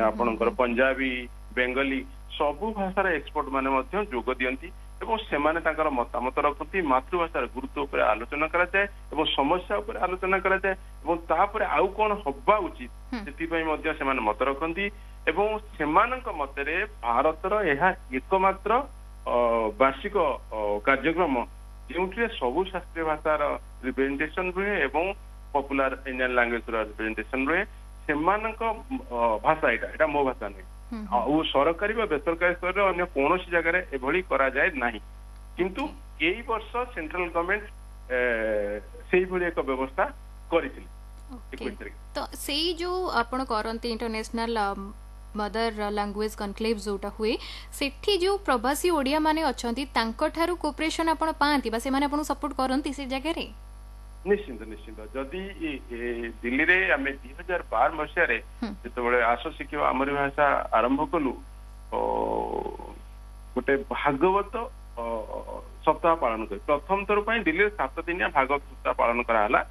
ଆପଣଙ୍କର ପଞ୍ଜାବୀ, ବେଙ୍ଗଲୀ ସବୁ ଭାଷାର ଏକ୍ସପର୍ଟ ମାନେ ମଧ୍ୟ ଯୋଗ ଦିଅନ୍ତି ଏବଂ ସେମାନେ ତାଙ୍କର ମତାମତ ରଖନ୍ତି। ମାତୃଭାଷାର ଗୁରୁତ୍ୱ ଉପରେ ଆଲୋଚନା କରାଯାଏ ଏବଂ ସମସ୍ୟା ଉପରେ ଆଲୋଚନା କରାଯାଏ ଏବଂ ତାପରେ ଆଉ କଣ ହବା ଉଚିତ ସେଥିପାଇଁ ମଧ୍ୟ ସେମାନେ ମତ ରଖନ୍ତି ଏବଂ ସେମାନଙ୍କ ମତରେ ଭାରତର ଏହା ଏକମାତ୍ର ବାର୍ଷିକ କାର୍ଯ୍ୟକ୍ରମ ଯେଉଁଥିରେ ସବୁ ଶାସ୍ତ୍ରୀୟ ଭାଷାର ରିପ୍ରେଜେଣ୍ଟେସନ ରୁହେ ଏବଂ ପପୁଲାର ଇଣ୍ଡିଆନ ଲାଙ୍ଗୁଏଜର ରିପ୍ରେଜେଣ୍ଟେସନ ରୁହେ। ସେମାନଙ୍କ ଭାଷା ଏଇଟା, ଏଇଟା ମୋ ଭାଷା ନୁହେଁ। ଆଉ ସରକାରୀ ବା ବେସରକାରୀ ସ୍ତରରେ ଅନ୍ୟ କୌଣସି ଜାଗାରେ ଏଭଳି କରାଯାଏ ନାହିଁ। କିନ୍ତୁ ଏଇ ବର୍ଷ ସେଣ୍ଟ୍ରାଲ ଗଭର୍ଣମେଣ୍ଟ ସେଇଭଳି ଏକ ବ୍ୟବସ୍ଥା କରିଥିଲେ। ତ ସେଇ ଯୋଉ ଆପଣ କରନ୍ତି ଇଣ୍ଟରନ୍ୟାସନାଲ ମଦର ଲାଙ୍ଗୁଏଜ କନକ୍ଲେଭ ଯୋଉଟା ହୁଏ, ସେଠି ଯୋଉ ପ୍ରବାସୀ ଓଡ଼ିଆ ମାନେ ଅଛନ୍ତି ତାଙ୍କଠାରୁ କୋଅପରେସନ ଆପଣ ପାଆନ୍ତି ବା ସେମାନେ ଆପଣଙ୍କୁ ସପୋର୍ଟ କରନ୍ତି ସେ ଜାଗାରେ? ନିଶ୍ଚିନ୍ତ ନିଶ୍ଚିନ୍ତ। ଯଦି ଦିଲ୍ଲୀରେ ଆମେ ଦୁଇ ହଜାର ବାର ମସିହାରେ ଯେତେବେଳେ ଆସ ଶିଖିବା ଆମରି ଭାଷା ଆରମ୍ଭ କଲୁ, ଗୋଟେ ଭାଗବତ ସପ୍ତାହ ପାଳନ କରି ପ୍ରଥମ ଥର ପାଇଁ ଦିଲ୍ଲୀରେ ସାତ ଦିନିଆ ଭାଗବତ ସପ୍ତାହ ପାଳନ କରାହେଲା,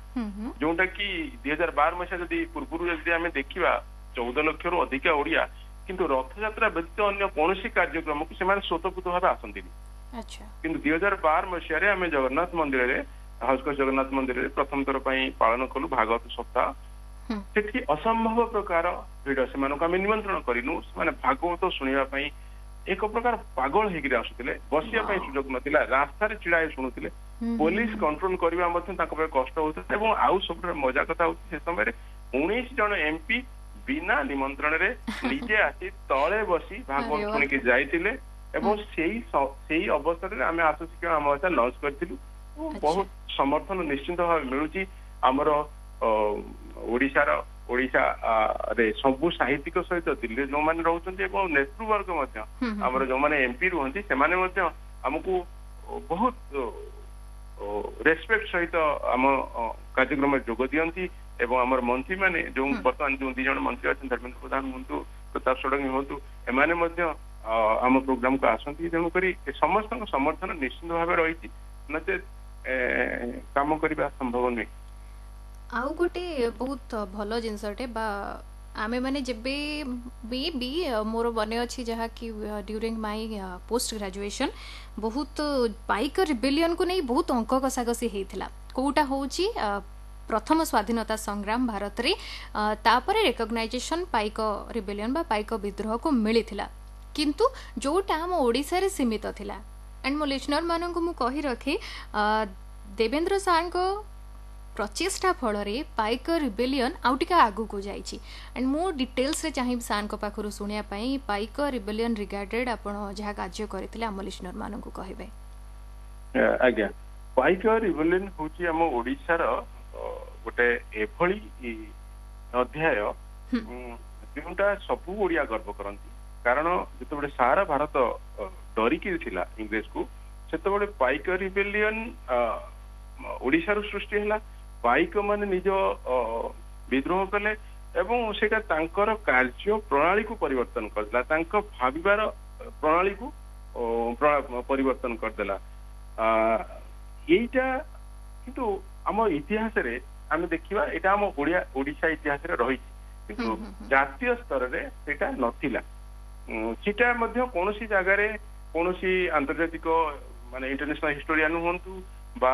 ଯୋଉଟା କି ଦୁଇ ହଜାର ବାର ମସିହା ଯଦି ପୂର୍ବରୁ ଯଦି ଆମେ ଦେଖିବା ଚଉଦ ଲକ୍ଷରୁ ଅଧିକା ଓଡିଆ କିନ୍ତୁ ରଥଯାତ୍ରା ବ୍ୟତୀତ ଅନ୍ୟ କୌଣସି କାର୍ଯ୍ୟକ୍ରମକୁ ସେମାନେ ସ୍ୱତଃପ୍ରତ ଭାବେ ଆସନ୍ତିନି। କିନ୍ତୁ ଦୁଇ ହଜାର ବାର ମସିହାରେ ଆମେ ଜଗନ୍ନାଥ ମନ୍ଦିରରେ, ହାଉସକସ ଜଗନ୍ନାଥ ମନ୍ଦିରରେ ପ୍ରଥମ ଥର ପାଇଁ ପାଳନ କଲୁ ଭାଗବତ ସପ୍ତାହ। ସେଠି ଅସମ୍ଭବ ପ୍ରକାର ଭିଡ, ସେମାନଙ୍କୁ ଆମେ ନିମନ୍ତ୍ରଣ କରିନୁ, ସେମାନେ ଭାଗବତ ଶୁଣିବା ପାଇଁ ଏକ ପ୍ରକାର ପାଗଳ ହେଇକିରି ଆସୁଥିଲେ। ବସିବା ପାଇଁ ସୁଯୋଗ ନଥିଲା, ରାସ୍ତାରେ ଛିଡା ହେଇ ଶୁଣୁଥିଲେ। ପୋଲିସ କଣ୍ଟ୍ରୋଲ କରିବା ମଧ୍ୟ ତାଙ୍କ ପାଇଁ କଷ୍ଟ ହଉଥିଲା। ଏବଂ ଆଉ ସବୁଠାରୁ ମଜା କଥା ହଉଛି ସେ ସମୟରେ ଉଣେଇଶ ଜଣ ଏମପି ବିନା ନିମନ୍ତ୍ରଣରେ ନିଜେ ଆସି ତଳେ ବସି ଭାଗବତ ଶୁଣିକି ଯାଇଥିଲେ ଏବଂ ସେଇ ସେଇ ଅବସରରେ ଆମେ ଆସ ଶିଖିବା ଆମ ଭାଷା ଲଞ୍ଚ କରିଥିଲୁ। ବହୁତ ସମର୍ଥନ ନିଶ୍ଚିନ୍ତ ଭାବେ ମିଳୁଛି। ଆମର ଓଡିଶାର ଓଡିଶାରେ ସବୁ ସାହିତ୍ୟିକ ସହିତ ଦିଲ୍ଲୀରେ ଯୋଉମାନେ ରହୁଛନ୍ତି ଏବଂ ନେତୃବର୍ଗ ମଧ୍ୟ ଆମର ଯୋଉମାନେ ଏମପି ରୁହନ୍ତି ସେମାନେ ମଧ୍ୟ ଆମକୁ ବହୁତ ରେସପେକ୍ଟ ସହିତ ଆମ କାର୍ଯ୍ୟକ୍ରମରେ ଯୋଗ ଦିଅନ୍ତି। ଏବଂ ଆମର ମନ୍ତ୍ରୀମାନେ ଯୋଉ ବର୍ତ୍ତମାନ ଯୋଉ ଦି ଜଣ ମନ୍ତ୍ରୀ ଅଛନ୍ତି, ଧର୍ମେନ୍ଦ୍ର ପ୍ରଧାନ ହୁଅନ୍ତୁ, ପ୍ରତାପ ଷଡଙ୍ଗୀ ହୁଅନ୍ତୁ, ଏମାନେ ମଧ୍ୟ ଆମ ପ୍ରୋଗ୍ରାମକୁ ଆସନ୍ତି। ତେଣୁକରି ସମସ୍ତଙ୍କ ସମର୍ଥନ ନିଶ୍ଚିନ୍ତ ଭାବେ ରହିଛି, ନଚେତ କାମ କରିବା ସମ୍ଭବ ନୁହେଁ। ଆଉ ଗୋଟେ ବହୁତ ଭଲ ଜିନିଷଟେ ବା ଆମେ ମାନେ ଯେବେ ବି ବି ମୋର ମନେ ଅଛି ଯାହାକି ଡ୍ୟୁରିଂ ମାଇ ପୋଷ୍ଟ ଗ୍ରାଜୁଏସନ୍ ବହୁତ ପାଇକ ରିବେଲିୟନକୁ ନେଇ ବହୁତ ଅଙ୍କ କଷାକଷି ହେଇଥିଲା। କୋଉଟା ହେଉଛି ପ୍ରଥମ ସ୍ୱାଧୀନତା ସଂଗ୍ରାମ ଭାରତରେ, ତାପରେ ରେକଗ୍ନାଇଜେସନ ପାଇକ ରିବେଲିୟନ ବା ପାଇକ ବିଦ୍ରୋହକୁ ମିଳିଥିଲା, କିନ୍ତୁ ଯୋଉଟା ଆମ ଓଡ଼ିଶାରେ ସୀମିତ ଥିଲା। ଆଣ୍ଡ ମୋ ଲିସନର ମାନଙ୍କୁ ମୁଁ କହି ରଖେ, ଦେବେନ୍ଦ୍ର ସାର୍ଙ୍କ ପ୍ରଚେଷ୍ଟା ଫଳରେ ପାଇକ ରିବେଲିୟନ ଆଉ ଟିକେ ଆଗକୁ ଯାଇଛି। ଆଣ୍ଡ ମୁଁ ଡିଟେଲ୍ସରେ ଚାହିଁବି ସାର୍ଙ୍କ ପାଖରୁ ଶୁଣିବା ପାଇଁ ପାଇକ ରିବେଲିୟନ ରିଗାର୍ଡେଡ୍ ଆପଣ ଯାହା କାର୍ଯ୍ୟ କରିଥିଲେ ଆମ ଲିସନର ମାନଙ୍କୁ କହିବେ। ଆଜ୍ଞା, ପାଇକ ରିବେଲିୟନ ହଉଛି ଆମ ଓଡ଼ିଶାର ଗୋଟେ ଏଭଳି ଅଧ୍ୟାୟ ଯେଉଁଟା ସବୁ ଓଡ଼ିଆ ଗର୍ବ କରନ୍ତି। କାରଣ ଯେତେବେଳେ ସାରା ଭାରତ ଡରିକି ଥିଲା ଇଂରେଜକୁ, ସେତେବେଳେ ପାଇକ ରିବେଲିୟନ ଓଡ଼ିଶାରୁ ସୃଷ୍ଟି ହେଲା। ପାଇକ ମାନେ ନିଜ ବିଦ୍ରୋହ କଲେ ଏବଂ ସେଇଟା ତାଙ୍କର କାର୍ଯ୍ୟ ପ୍ରଣାଳୀକୁ ପରିବର୍ତ୍ତନ କରିଦେଲା, ତାଙ୍କ ଭାବିବାର ପ୍ରଣାଳୀକୁ ପରିବର୍ତ୍ତନ କରିଦେଲା। ଏଇଟା କିନ୍ତୁ ଆମ ଇତିହାସରେ ଆମେ ଦେଖିବା ଏଇଟା ଆମ ଓଡ଼ିଆ ଓଡ଼ିଶା ଇତିହାସରେ ରହିଛି, କିନ୍ତୁ ଜାତୀୟ ସ୍ତରରେ ସେଇଟା ନଥିଲା। ସେଇଟା ମଧ୍ୟ କୌଣସି ଜାଗାରେ କୌଣସି ଆନ୍ତର୍ଜାତିକ ମାନେ ଇଣ୍ଟରନ୍ୟାସନାଲ ହିଷ୍ଟୋରିଆନ ହୁଅନ୍ତୁ ବା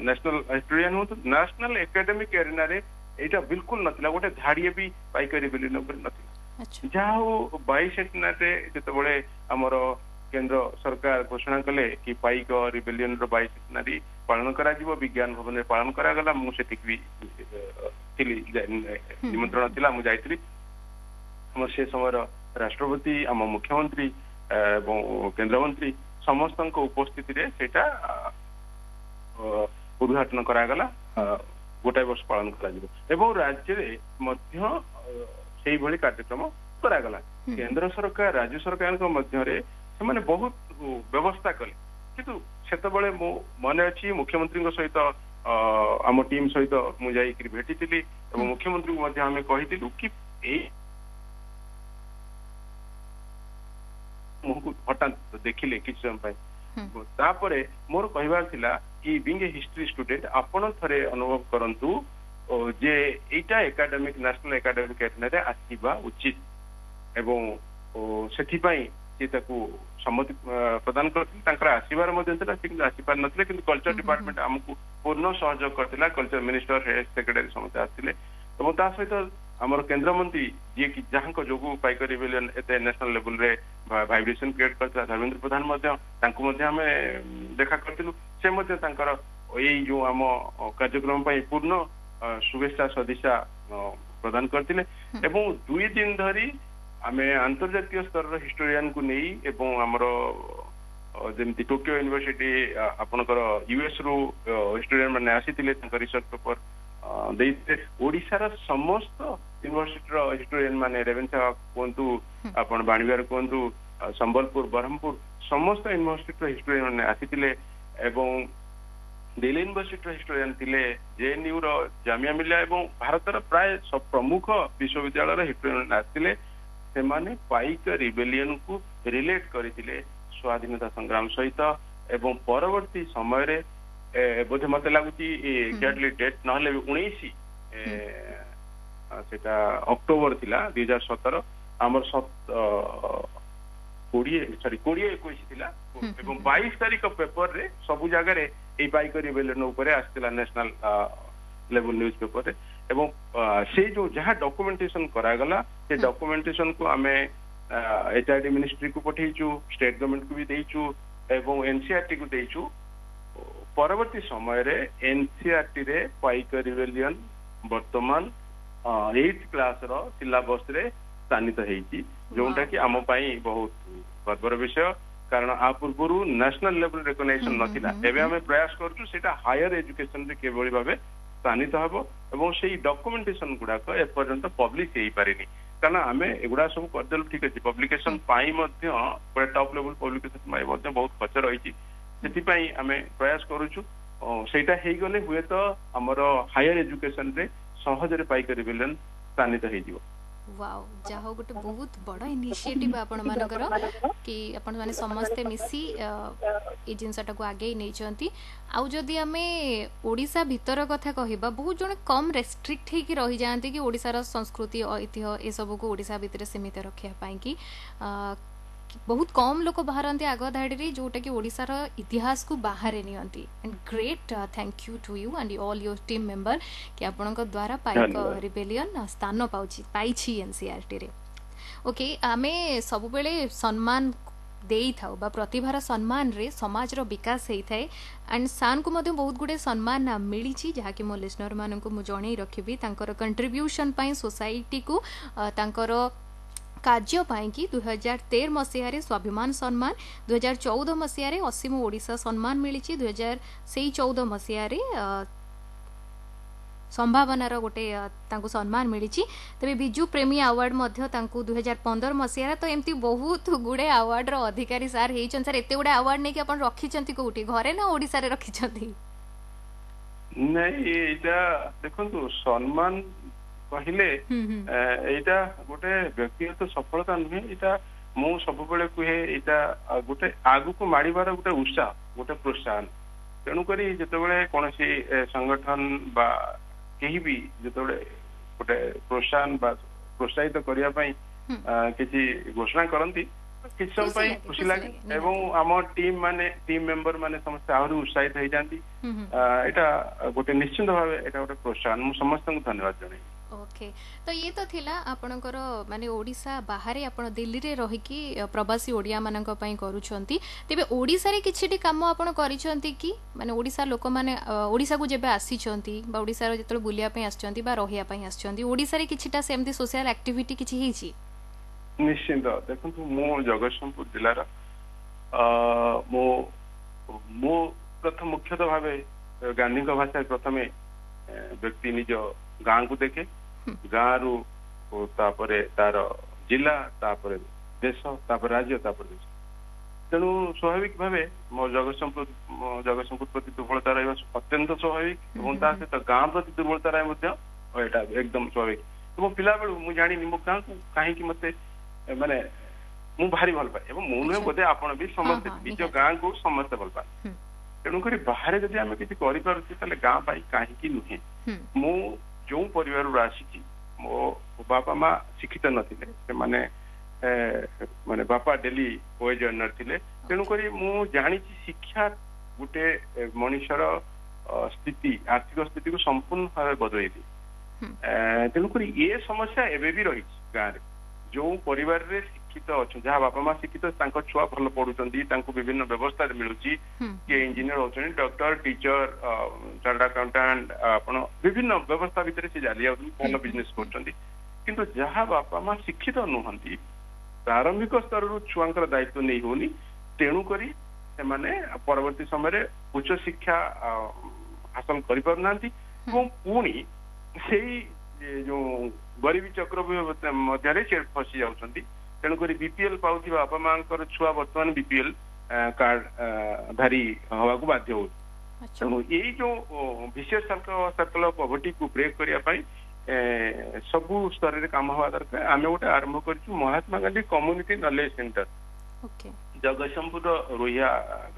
ନ୍ୟାସନାଲ ହିଷ୍ଟୋରିଆନ ହୁଅନ୍ତୁ, ନ୍ୟାସନାଲ ଏକାଡେମିକ ଏରିନାରେ ଏଇଟା ବିଲକୁଲ ନଥିଲା, ଗୋଟେ ଧାଡ଼ିଏ ବି ପାଇକ ରିବେଲିୟନ ଉପରେ ନଥିଲା। ଯାହା ହଉ ବାଇସେଣ୍ଟନାରେ ଯେତେବେଳେ ଆମର କେନ୍ଦ୍ର ସରକାର ଘୋଷଣା କଲେ କି ପାଇକ ରିବେଲିୟନର ବାଇସେଣ୍ଟନାରୀ ପାଳନ କରାଯିବ, ବିଜ୍ଞାନ ଭବନରେ ପାଳନ କରାଗଲା। ମୁଁ ସେଠିକି ବି ଥିଲି, ନିମନ୍ତ୍ରଣ ଥିଲା, ମୁଁ ଯାଇଥିଲି। ଆମର ସେ ସମୟର ରାଷ୍ଟ୍ରପତି, ଆମ ମୁଖ୍ୟମନ୍ତ୍ରୀ ଏବଂ କେନ୍ଦ୍ରମନ୍ତ୍ରୀ ସମସ୍ତଙ୍କ ଉପସ୍ଥିତିରେ ସେଇଟା ଉଦ୍ଘାଟନ କରାଗଲା। ଗୋଟାଏ ବର୍ଷ ପାଳନ କରାଯିବ ଏବଂ ରାଜ୍ୟରେ ମଧ୍ୟ ସେଇଭଳି କାର୍ଯ୍ୟକ୍ରମ କରାଗଲା। କେନ୍ଦ୍ର ସରକାର ରାଜ୍ୟ ସରକାରଙ୍କ ମଧ୍ୟରେ ସେମାନେ ବହୁତ ବ୍ୟବସ୍ଥା କଲେ, କିନ୍ତୁ ସେତେବେଳେ ମୁଁ ମନେ ଅଛି ମୁଖ୍ୟମନ୍ତ୍ରୀଙ୍କ ସହିତ ଆମ ଟିମ୍ ସହିତ ମୁଁ ଯାଇକିରି ଭେଟିଥିଲି ଏବଂ ମୁଖ୍ୟମନ୍ତ୍ରୀଙ୍କୁ ମଧ୍ୟ ଆମେ କହିଥିଲୁ କି ଏଇ ମୁହଁକୁ ହଠାତ୍ ଦେଖିଲେ କିଛି ସମୟ ପାଇଁ। ତାପରେ ମୋର କହିବାର ଥିଲା କି ବିଙ୍ଗ ଏ ହିଷ୍ଟ୍ରି ଷ୍ଟୁଡେଣ୍ଟ ଆପଣ ଥରେ ଅନୁଭବ କରନ୍ତୁ ଯେ ଏଇଟା ଏକାଡେମିକ ନ୍ୟାସନାଲ ଏକାଡେମିକ ଏରିନାରେ ଆସିବା ଉଚିତ ଏବଂ ସେଥିପାଇଁ ସେ ତାକୁ ସମ୍ମତି ପ୍ରଦାନ କରିଥିଲେ। ତାଙ୍କର ଆସିବାର ମଧ୍ୟ ଥିଲା, ସେ କିନ୍ତୁ ଆସିପାରିନଥିଲେ, କିନ୍ତୁ କଲଚର ଡିପାର୍ଟମେଣ୍ଟ ଆମକୁ ପୂର୍ଣ୍ଣ ସହଯୋଗ କରିଥିଲା। କଲଚର ମିନିଷ୍ଟର, ହେଡ୍ ସେକ୍ରେଟାରୀ ସମସ୍ତେ ଆସିଥିଲେ ଏବଂ ତା ସହିତ ଆମର କେନ୍ଦ୍ରମନ୍ତ୍ରୀ ଯିଏକି ଯାହାଙ୍କ ଯୋଗୁଁ ପାଇକ ରିବେଲିୟନ ଏତେ ନ୍ୟାସନାଲ ଲେଭେଲରେ ଭାଇବ୍ରେସନ କ୍ରିଏଟ କରିଥିଲା, ଧର୍ମେନ୍ଦ୍ର ପ୍ରଧାନ ମଧ୍ୟ, ତାଙ୍କୁ ମଧ୍ୟ ଆମେ ଦେଖା କରିଥିଲୁ। ସେ ମଧ୍ୟ ତାଙ୍କର ଏଇ ଯୋଉ ଆମ କାର୍ଯ୍ୟକ୍ରମ ପାଇଁ ପୂର୍ଣ୍ଣ ଶୁଭେଚ୍ଛା ସଦିଚ୍ଛା ପ୍ରଦାନ କରିଥିଲେ। ଏବଂ ଦୁଇ ଦିନ ଧରି ଆମେ ଆନ୍ତର୍ଜାତୀୟ ସ୍ତରର ହିଷ୍ଟୋରିଆନକୁ ନେଇ ଏବଂ ଆମର ଯେମିତି ଟୋକିଓ ୟୁନିଭର୍ସିଟି, ଆପଣଙ୍କର ୟୁଏସ୍ ରୁ ହିଷ୍ଟୋରିଆନ ମାନେ ଆସିଥିଲେ, ତାଙ୍କ ରିସର୍ଚ୍ଚ ପେପର ଦେଇଥିଲେ। ଓଡିଶାର ସମସ୍ତ ୟୁନିଭର୍ସିଟିର ହିଷ୍ଟୋରିଆନ ମାନେ, ରେଭେନ୍ସା କୁହନ୍ତୁ, ଆପଣ ବାଣୀବିହାର କୁହନ୍ତୁ, ସମ୍ବଲପୁର, ବ୍ରହ୍ମପୁର, ସମସ୍ତ ୟୁନିଭର୍ସିଟିର ହିଷ୍ଟୋରିଆନ ମାନେ ଆସିଥିଲେ ଏବଂ ଦିଲ୍ଲୀ ୟୁନିଭର୍ସିଟିର ହିଷ୍ଟୋରିଆନ ଥିଲେ, ଜେଏନୟୁ ର, ଜାମିଆ ମିଲିଆ ଏବଂ ଭାରତର ପ୍ରାୟ ପ୍ରମୁଖ ବିଶ୍ୱବିଦ୍ୟାଳୟର ହିଷ୍ଟୋରିଆନ ମାନେ ଆସିଥିଲେ। ସେମାନେ ପାଇକ ରିବେଲିୟନକୁ ରିଲେଟ କରିଥିଲେ ସ୍ୱାଧୀନତା ସଂଗ୍ରାମ ସହିତ ଏବଂ ପରବର୍ତ୍ତୀ ସମୟରେ ବୋଧେ ମତେ ଲାଗୁଛି ଏକ୍ଜାକ୍ଟଲି ଡେଟ୍ ନହେଲେ ବି ଉଣେଇଶ ସେଟା ଅକ୍ଟୋବର ଥିଲା ଦୁଇ ହଜାର ସତର, ଆମର କୋଡିଏ ସରି କୋଡିଏ ଏକୋଇଶ ଥିଲା ଏବଂ ବାଇଶ ତାରିଖ ପେପରରେ ସବୁ ଜାଗାରେ ଏଇ ପାଇକ ରିବେଲିୟନ ଉପରେ ଆସିଥିଲା ନ୍ୟାସନାଲ ଲେଭେଲ ନ୍ୟୁଜ ପେପରରେ। ଏବଂ ସେଇ ଯୋଉ ଯାହା ଡକୁମେଣ୍ଟେସନ କରାଗଲା ସେ ଡକୁମେଣ୍ଟେସନକୁ ଆମେ ଏଚଆରଡି ମିନିଷ୍ଟ୍ରିକୁ ପଠେଇଛୁ, ଷ୍ଟେଟ ଗଭର୍ଣ୍ଣମେଣ୍ଟକୁ ବି ଦେଇଛୁ ଏବଂ ଏନସିଆରଟି କୁ ଦେଇଛୁ। ପରବର୍ତ୍ତୀ ସମୟରେ ଏନସିଆରଟି ରେ ପାଇକ ରିବେଲିୟନ ବର୍ତ୍ତମାନ ଏଇଟ କ୍ଲାସର ସିଲାବସରେ ସ୍ଥାନିତ ହେଇଛି, ଯୋଉଟା କି ଆମ ପାଇଁ ବହୁତ ଗର୍ବର ବିଷୟ, କାରଣ ଆ ପୂର୍ବରୁ ନ୍ୟାସନାଲ ଲେଭେଲ ରେକଗ୍ନାଇଜେସନ ନଥିଲା। ଏବେ ଆମେ ପ୍ରୟାସ କରୁଛୁ ସେଇଟା ହାୟର ଏଜୁକେସନରେ କିଭଳି ଭାବେ ସ୍ଥାନିତ ହେବ ଏବଂ ସେଇ ଡକୁମେଣ୍ଟେସନ ଗୁଡାକ ଏପର୍ଯ୍ୟନ୍ତ ପବ୍ଲିଶ ହେଇପାରିନି, କାରଣ ଆମେ ଏଗୁଡା ସବୁ କରିଦେଲୁ ଠିକ ଅଛି, ପବ୍ଲିକେସନ ପାଇଁ ମଧ୍ୟ ଗୋଟେ ଟପ୍ ଲେଭେଲ ପବ୍ଲିକେସନ ପାଇଁ ମଧ୍ୟ ବହୁତ ଖର୍ଚ୍ଚ ରହିଛି, ସେଥିପାଇଁ ଆମେ ପ୍ରୟାସ କରୁଛୁ ସେଇଟା ହେଇଗଲେ ହୁଏତ ଆମର ହାୟର ଏଜୁକେସନରେ ସହଜରେ ପାଇକ ରିବେଲିୟନ ସ୍ଥାନିତ ହେଇଯିବ। ୱାଓ, ଯାହା ହଉ ଗୋଟେ ବହୁତ ବଡ଼ ଇନିସିଏଟିଭ୍ ଆପଣମାନଙ୍କର କି ଆପଣମାନେ ସମସ୍ତେ ମିଶି ଏଇ ଜିନିଷଟାକୁ ଆଗେଇ ନେଇଛନ୍ତି। ଆଉ ଯଦି ଆମେ ଓଡ଼ିଶା ଭିତର କଥା କହିବା, ବହୁତ ଜଣ କମ୍ ରେଷ୍ଟ୍ରିକ୍ଟ ହେଇକି ରହିଯାଆନ୍ତି କି ଓଡ଼ିଶାର ସଂସ୍କୃତି, ଐତିହ୍ୟ ଏସବୁକୁ ଓଡ଼ିଶା ଭିତରେ ସୀମିତ ରଖିବା ପାଇଁକି ବହୁତ କମ୍ ଲୋକ ବାହାରନ୍ତି ଆଗ ଧାଡ଼ିରେ, ଯୋଉଟାକି ଓଡ଼ିଶାର ଇତିହାସକୁ ବାହାରେ ନିଅନ୍ତି। And great thank you to you and all your team member କି ଆପଣଙ୍କ ଦ୍ୱାରା ପାଇକ ରିବେଲିୟନ ସ୍ଥାନ ପାଉଛି ପାଇଛି ଏନସିଆରଟିରେ। ଓକେ, ଆମେ ସବୁବେଳେ ସମ୍ମାନ ଦେଇଥାଉ ବା ପ୍ରତିଭାର ସମ୍ମାନରେ ସମାଜର ବିକାଶ ହେଇଥାଏ ଆଣ୍ଡ ସାର୍ଙ୍କୁ ମଧ୍ୟ ବହୁତ ଗୁଡ଼ିଏ ସମ୍ମାନ ମିଳିଛି, ଯାହାକି ମୋ ଲିସନରମାନଙ୍କୁ ମୁଁ ଜଣେଇ ରଖିବି। ତାଙ୍କର କଣ୍ଟ୍ରିବ୍ୟୁସନ୍ ପାଇଁ ସୋସାଇଟିକୁ, ତାଙ୍କର କାର୍ଯ୍ୟ ପାଇଁକି ଦୁଇ ହଜାର ତେର ମସିହାରେ ସ୍ୱାଭିମାନ ସମ୍ମାନ, ଦୁଇ ହଜାର ଚଉଦ ମସିହାରେ ଅସୀମ ଓଡ଼ିଶା ସମ୍ମାନ ମିଳିଛି, ଦୁଇ ହଜାର ସେଇ ଚଉଦ ମସିହାରେ ସମ୍ଭାବନାର ଗୋଟେ ତାଙ୍କୁ ସମ୍ମାନ ମିଳିଛି। ତେବେ ବିଜୁ ପ୍ରେମୀ ଆୱାର୍ଡ ମଧ୍ୟ ତାଙ୍କୁ ଦୁଇ ହଜାର ପନ୍ଦର ମସିହାରେ। ତ ଏମିତି ବହୁତ ଗୁଡ଼େ ଆୱାର୍ଡର ଅଧିକାରୀ ସାର୍ ହେଇଛନ୍ତି। ସାର୍, ଏତେ ଗୁଡ଼େ ଆୱାର୍ଡ ନେଇକି ଆପଣ ରଖିଛନ୍ତି କୋଉଠି, ଘରେ ନା ଓଡ଼ିଶାରେ ରଖିଛନ୍ତି? ନାଇଁ, ଏଇଟା ଦେଖନ୍ତୁ, ସମ୍ମାନ କହିଲେ ଏଇଟା ଗୋଟେ ବ୍ୟକ୍ତିଗତ ସଫଳତା ନୁହେଁ, ଏଇଟା ମୁଁ ସବୁବେଳେ କୁହେ ଏଇଟା ଗୋଟେ ଆଗକୁ ମାଡ଼ିବାର ଗୋଟେ ଉତ୍ସାହ, ଗୋଟେ ପ୍ରୋତ୍ସାହନ। ତେଣୁକରି ଯେତେବେଳେ କୌଣସି ସଂଗଠନ ବା କେହି ବି ଯେତେବେଳେ ଗୋଟେ ପ୍ରୋତ୍ସାହନ ବା ପ୍ରୋତ୍ସାହିତ କରିବା ପାଇଁ କିଛି ଘୋଷଣା କରନ୍ତି, କିଛି ସମୟ ପାଇଁ ଖୁସି ଲାଗେ ଏବଂ ଆମ ଟିମ୍ ମାନେ, ଟିମ୍ ମେମ୍ବର ମାନେ ସମସ୍ତେ ଆହୁରି ଉତ୍ସାହିତ ହେଇଯାନ୍ତି। ଏଇଟା ଗୋଟେ ନିଶ୍ଚିନ୍ତ ଭାବେ ଏଇଟା ଗୋଟେ ପ୍ରୋତ୍ସାହନ। ମୁଁ ସମସ୍ତଙ୍କୁ ଧନ୍ୟବାଦ ଜଣେଇବି। ଓକେ, ତ ଇଏ ତ ଥିଲା ଆପଣଙ୍କର ମାନେ ଓଡ଼ିଶା ବାହାରେ ଆପଣ ଦିଲ୍ଲୀରେ ରହିକି ପ୍ରବାସୀ ଓଡ଼ିଆମାନଙ୍କ ପାଇଁ କରୁଛନ୍ତି। ତେବେ ଓଡ଼ିଶାରେ କିଛିଟି କାମ ଆପଣ କରିଛନ୍ତି କି? ମାନେ ଓଡ଼ିଶା ଲୋକମାନେ ଓଡ଼ିଶାକୁ ଯେବେ ଆସିଛନ୍ତି ବା ଓଡ଼ିଶାର ଯେତେବେଳେ ବୁଲିବା ପାଇଁ ଆସିଛନ୍ତି ବା ରହିବା ପାଇଁ ଆସିଛନ୍ତି, ଓଡ଼ିଶାରେ କିଛିଟା ସେମିତି ସୋସିଆଲ ଆକ୍ଟିଭିଟି କିଛି ହେଇଛି? ନିଶ୍ଚିନ୍ତ। ଦେଖନ୍ତୁ, ମୁଁ ଜଗତସିଂହପୁର ଜିଲ୍ଲାର, ମୁଁ ମୁଁ ପ୍ରଥମ ମୁଖ୍ୟତଃ ଭାବେ ଗାନ୍ଧୀଙ୍କ ଭାଷାରେ ପ୍ରଥମେ ବ୍ୟକ୍ତି ନିଜ ଗାଁକୁ ଦେଖେ, ଗାଁରୁ ତାପରେ ତାର ଜିଲ୍ଲା, ତାପରେ ଦେଶ, ତାପରେ ରାଜ୍ୟ, ତାପରେ ଦେଶ। ତେଣୁ ସ୍ୱାଭାବିକ ଭାବେ ମୋ ଜଗତସିଂହପୁର ଜଗତସିଂହପୁର ପ୍ରତି ଦୁର୍ବଳତା ରହିବା ଅତ୍ୟନ୍ତ ସ୍ୱାଭାବିକ ଏବଂ ତା ସହିତ ଗାଁ ପ୍ରତି ଦୁର୍ବଳତା ରହିବା ମଧ୍ୟ ଏଇଟା ଏକଦମ ସ୍ୱାଭାବିକ। ଏବଂ ପିଲାବେଳୁ ମୁଁ ଜାଣିନି ମୋ ଗାଁକୁ କାହିଁକି ମତେ ମାନେ ମୁଁ ଭାରି ଭଲ ପାଏ ଏବଂ ମୁଁ ନୁହେଁ ବୋଧେ ଆପଣ ବି ସମସ୍ତେ ନିଜ ଗାଁକୁ ସମସ୍ତେ ଭଲ ପାଆନ୍ତି। ତେଣୁକରି ବାହାରେ ଯଦି ଆମେ କିଛି କରିପାରୁଛେ ତାହେଲେ ଗାଁ ପାଇଁ କାହିଁକି ନୁହେଁ। ମୁଁ ଯୋଉ ପରିବାରରୁ ଆସିଛି, ମୋ ବାପା ମା ଶିକ୍ଷିତ ନଥିଲେ, ସେମାନେ ମାନେ ବାପା ଡେଲି ୱେଜ୍ ଅର୍ନର ଥିଲେ। ତେଣୁକରି ମୁଁ ଜାଣିଛି ଶିକ୍ଷା ଗୋଟେ ମଣିଷର ସ୍ଥିତି, ଆର୍ଥିକ ସ୍ଥିତିକୁ ସମ୍ପୂର୍ଣ୍ଣ ଭାବେ ବଦଳେଇ ଦିଏ। ତେଣୁକରି ଏ ସମସ୍ୟା ଏବେ ବି ରହିଛି ଗାଁରେ। ଯୋଉ ପରିବାରରେ ଶିକ୍ଷିତ ଅଛନ୍ତି, ଯାହା ବାପା ମା ଶିକ୍ଷିତ, ତାଙ୍କ ଛୁଆ ଭଲ ପଢୁଛନ୍ତି, ତାଙ୍କୁ ବିଭିନ୍ନ ବ୍ୟବସ୍ଥାରେ ମିଳୁଛି, କିଏ ଇଞ୍ଜିନିୟର ହଉଛନ୍ତି, ଡକ୍ଟର, ଟିଚର, ଚାର୍ଟାର୍ଡ ଆକାଉଣ୍ଟାଣ୍ଟ, ଆପଣ ବିଭିନ୍ନ ବ୍ୟବସ୍ଥା ଭିତରେ ସେ ଚାଲି ଯାଉଛନ୍ତି, ଭଲ ବିଜନେସ କରୁଛନ୍ତି। କିନ୍ତୁ ଯାହା ବାପା ମା ଶିକ୍ଷିତ ନୁହନ୍ତି, ପ୍ରାରମ୍ଭିକ ସ୍ତରରୁ ଛୁଆଙ୍କର ଦାୟିତ୍ୱ ନେଇ ହଉନି, ତେଣୁକରି ସେମାନେ ପରବର୍ତ୍ତୀ ସମୟରେ ଉଚ୍ଚ ଶିକ୍ଷା ହାସଲ କରିପାରୁନାହାନ୍ତି ଏବଂ ପୁଣି ସେଇ ଯୋଉ ଗରିବୀ ଚକ୍ରବ୍ୟୁହ ମଧ୍ୟରେ ସେ ଫସି ଯାଉଛନ୍ତି। ତେଣୁକରି ବିପିଏଲ ପାଉଥିବା ବାପା ମାଙ୍କର ଛୁଆ ବର୍ତ୍ତମାନ ବିପିଏଲ କାର୍ଡ ଧାରୀ ହବାକୁ ବାଧ୍ୟ ହଉଛି। ତେଣୁ ଏଇ ଯୋଉ ଭିସିୟସ୍ ସର୍କଲ ଅଫ ପଭର୍ଟିକୁ ବ୍ରେକ୍ କରିବା ପାଇଁ ସବୁ ସ୍ତରରେ କାମ ହବା ଦରକାର। ଆମେ ଗୋଟେ ଆରମ୍ଭ କରିଛୁ Mahatma Gandhi community knowledge centre Jagatsinghpur Rohia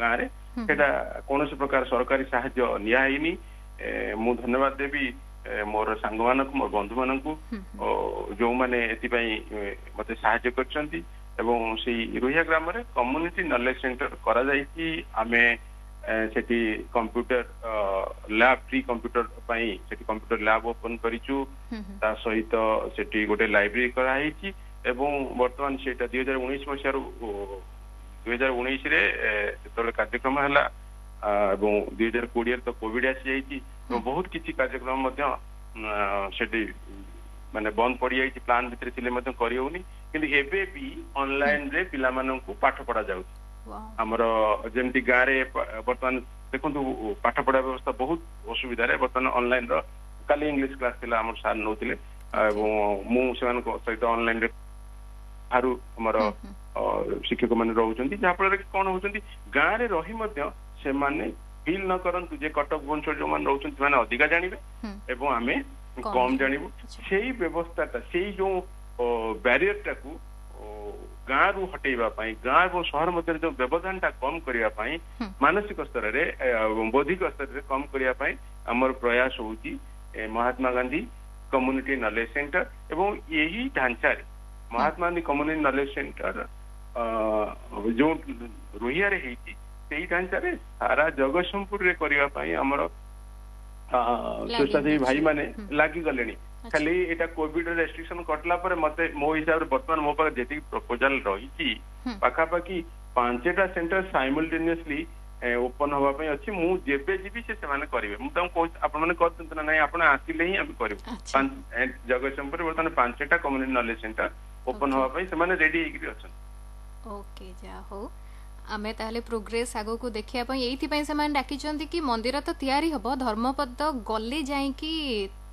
ଗାଁରେ। ସେଟା କୌଣସି ପ୍ରକାର ସରକାରୀ ସାହାଯ୍ୟ ନିଆ ହେଇନି। ମୁଁ ଧନ୍ୟବାଦ ଦେବି ମୋର ସାଙ୍ଗମାନଙ୍କୁ, ମୋର ବନ୍ଧୁମାନଙ୍କୁ, ଯୋଉମାନେ ଏଥିପାଇଁ ମତେ ସାହାଯ୍ୟ କରିଛନ୍ତି। ଏବଂ ସେଇ ରୋହିଆ ଗ୍ରାମରେ କମ୍ୟୁନିଟି ନଲେଜ ସେଣ୍ଟର କରାଯାଇଛି। ଆମେ ସେଠି କମ୍ପ୍ୟୁଟର ଲ୍ୟାବ୍, ଫ୍ରି କମ୍ପ୍ୟୁଟର ପାଇଁ ସେଠି କମ୍ପ୍ୟୁଟର ଲ୍ୟାବ୍ ଓପନ କରିଛୁ। ତା ସହିତ ସେଠି ଗୋଟେ ଲାଇବ୍ରେରୀ କରାହେଇଛି ଏବଂ ବର୍ତ୍ତମାନ ସେଇଟା ଦୁଇ ହଜାର ଉଣେଇଶ ମସିହାରୁ, ଦୁଇ ହଜାର ଉଣେଇଶରେ ଯେତେବେଳେ କାର୍ଯ୍ୟକ୍ରମ ହେଲା ଏବଂ ଦୁଇ ହଜାର କୋଡିଏରେ ତ କୋଭିଡ ଆସିଯାଇଛି ଏବଂ ବହୁତ କିଛି କାର୍ଯ୍ୟକ୍ରମ ମଧ୍ୟ ସେଠି ମାନେ ବନ୍ଦ ପଡିଯାଇଛି, ପ୍ଲାନ୍ ଭିତରେ ଥିଲେ ମଧ୍ୟ କରିହଉନି। କିନ୍ତୁ ଏବେ ବି ଅନଲାଇନରେ ପିଲାମାନଙ୍କୁ ପାଠ ପଢା ଯାଉଛି। ଆମର ଯେମିତି ଗାଁରେ ବର୍ତ୍ତମାନ ଦେଖନ୍ତୁ ପାଠ ପଢା ବ୍ୟବସ୍ଥା ବହୁତ ଅସୁବିଧାରେ, ବର୍ତ୍ତମାନ ଅନଲାଇନ ର କାଲି ଇଂଲିଶ କ୍ଲାସ ଥିଲା, ଆମର ସାର୍ ନଉଥିଲେ ଏବଂ ମୁଁ ସେମାନଙ୍କ ସହିତ ଅନଲାଇନରେ ବାହାରୁ ଆମର ଶିକ୍ଷକ ମାନେ ରହୁଛନ୍ତି, ଯାହାଫଳରେ କି କଣ ହଉଛନ୍ତି, ଗାଁରେ ରହି ମଧ୍ୟ ସେମାନେ ଫିଲ୍ ନ କରନ୍ତୁ ଯେ କଟକ ଭୁବନେଶ୍ୱର ଯୋଉମାନେ ରହୁଛନ୍ତି ସେମାନେ ଅଧିକା ଜାଣିବେ ଏବଂ ଆମେ କମ ଜାଣିବୁ। ସେଇ ବ୍ୟବସ୍ଥାଟା, ସେଇ ଯୋଉ ବ୍ୟାରିୟରଟାକୁ ଗାଁରୁ ହଟେଇବା ପାଇଁ, ଗାଁ ଏବଂ ସହର ମଧ୍ୟରେ ଯୋଉ ବ୍ୟବଧାନଟା କମ କରିବା ପାଇଁ, ମାନସିକ ସ୍ତରରେ ଏବଂ ବୌଦ୍ଧିକ ସ୍ତରରେ କମ କରିବା ପାଇଁ ଆମର ପ୍ରୟାସ ହଉଛି Mahatma Gandhi community knowledge centre. ଏବଂ ଏହି ଢାଞ୍ଚାରେ Mahatma Gandhi community knowledge centre ଯୋଉ ରୋହିଆରେ ହେଇଛି, ସେଇ ଢାଞ୍ଚାରେ ସାରା ଜଗତସିଂହପୁରରେ କରିବା ପାଇଁ ଆମର ସ୍ୱେଚ୍ଛାସେବୀ ଭାଇମାନେ ଲାଗିଗଲେଣି। ଖାଲି ଏଇଟା କୋଭିଡ ରେଷ୍ଟ୍ରିକ୍ସନ କଟିଲା ପରେ ମତେ ମୋ ହିସାବରେ ବର୍ତ୍ତମାନ ମୋ ପାଖରେ ଯେତିକି ପ୍ରପୋଜାଲ ରହିଛି, ପାଖାପାଖି ପାଞ୍ଚଟା ସେଣ୍ଟର ସାଇମଲଟେନିୟସଲି ଓପନ ହବା ପାଇଁ ଅଛି। ମୁଁ ଯେବେ ଯିବି ସେ ସେମାନେ କରିବେ। ମୁଁ ତାଙ୍କୁ କହୁଛି ଆପଣ ମାନେ କରିଛନ୍ତି ନା ନାଇଁ, ଆପଣ ଆସିଲେ ହିଁ ଆମେ କରିବୁ। ଜଗତସିଂହପୁରରେ ବର୍ତ୍ତମାନ ପାଞ୍ଚଟା କମ୍ୟୁନିଟି ନଲେଜ ସେଣ୍ଟର ଓପନ ହବା ପାଇଁ ସେମାନେ ରେଡି ହେଇକିରି ଅଛନ୍ତି। ଓକେ, ଯାହା ହଉ, ଆମେ ତାହେଲେ ପ୍ରୋଗ୍ରେସ ଆଗକୁ ଦେଖିବା ପାଇଁ ଏଇଥିପାଇଁ ସେମାନେ ଡାକିଛନ୍ତି କି ମନ୍ଦିର ତ ତିଆରି ହବ, ଧର୍ମପଦ ଗଲେ ଯାଇକି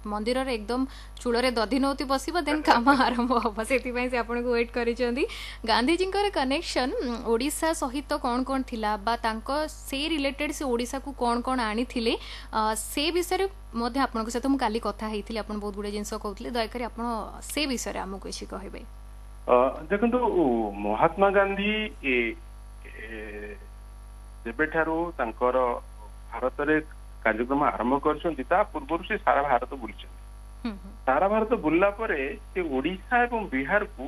ମନ୍ଦିରରେ ଏକଦମ ଚୂଳରେ ଦଧି ନଉତି ବସିବ, ଦେନ୍ କାମ ଆରମ୍ଭ ହବ। ସେଥିପାଇଁ ସେ ଆପଣଙ୍କୁ ୱେଟ୍ କରିଛନ୍ତି। ଗାନ୍ଧିଜୀଙ୍କର କନେକ୍ସନ ଓଡ଼ିଶା ସହିତ କ'ଣ କ'ଣ ଥିଲା ବା ତାଙ୍କ ସେ ରିଲେଟେଡ୍ ସେ ଓଡ଼ିଶାକୁ କ'ଣ କ'ଣ ଆଣିଥିଲେ, ସେ ବିଷୟରେ ମଧ୍ୟ ଆପଣଙ୍କ ସହିତ ମୁଁ କାଲି କଥା ହେଇଥିଲି। ଆପଣ ବହୁତ ଗୁଡ଼େ ଜିନିଷ କହୁଥିଲେ, ଦୟାକରି ଆପଣ ସେ ବିଷୟରେ ଆମକୁ କିଛି କହିବେ। ଦେଖନ୍ତୁ, ମହାତ୍ମା ଗାନ୍ଧୀ ଯେବେଠାରୁ ତାଙ୍କର ଭାରତରେ କାର୍ଯ୍ୟକ୍ରମ ଆରମ୍ଭ କରିଛନ୍ତି, ତା ପୂର୍ବରୁ ସେ ସାରା ଭାରତ ବୁଲିଛନ୍ତି। ସାରା ଭାରତ ବୁଲିଲା ପରେ ସେ ଓଡିଶା ଏବଂ ବିହାରକୁ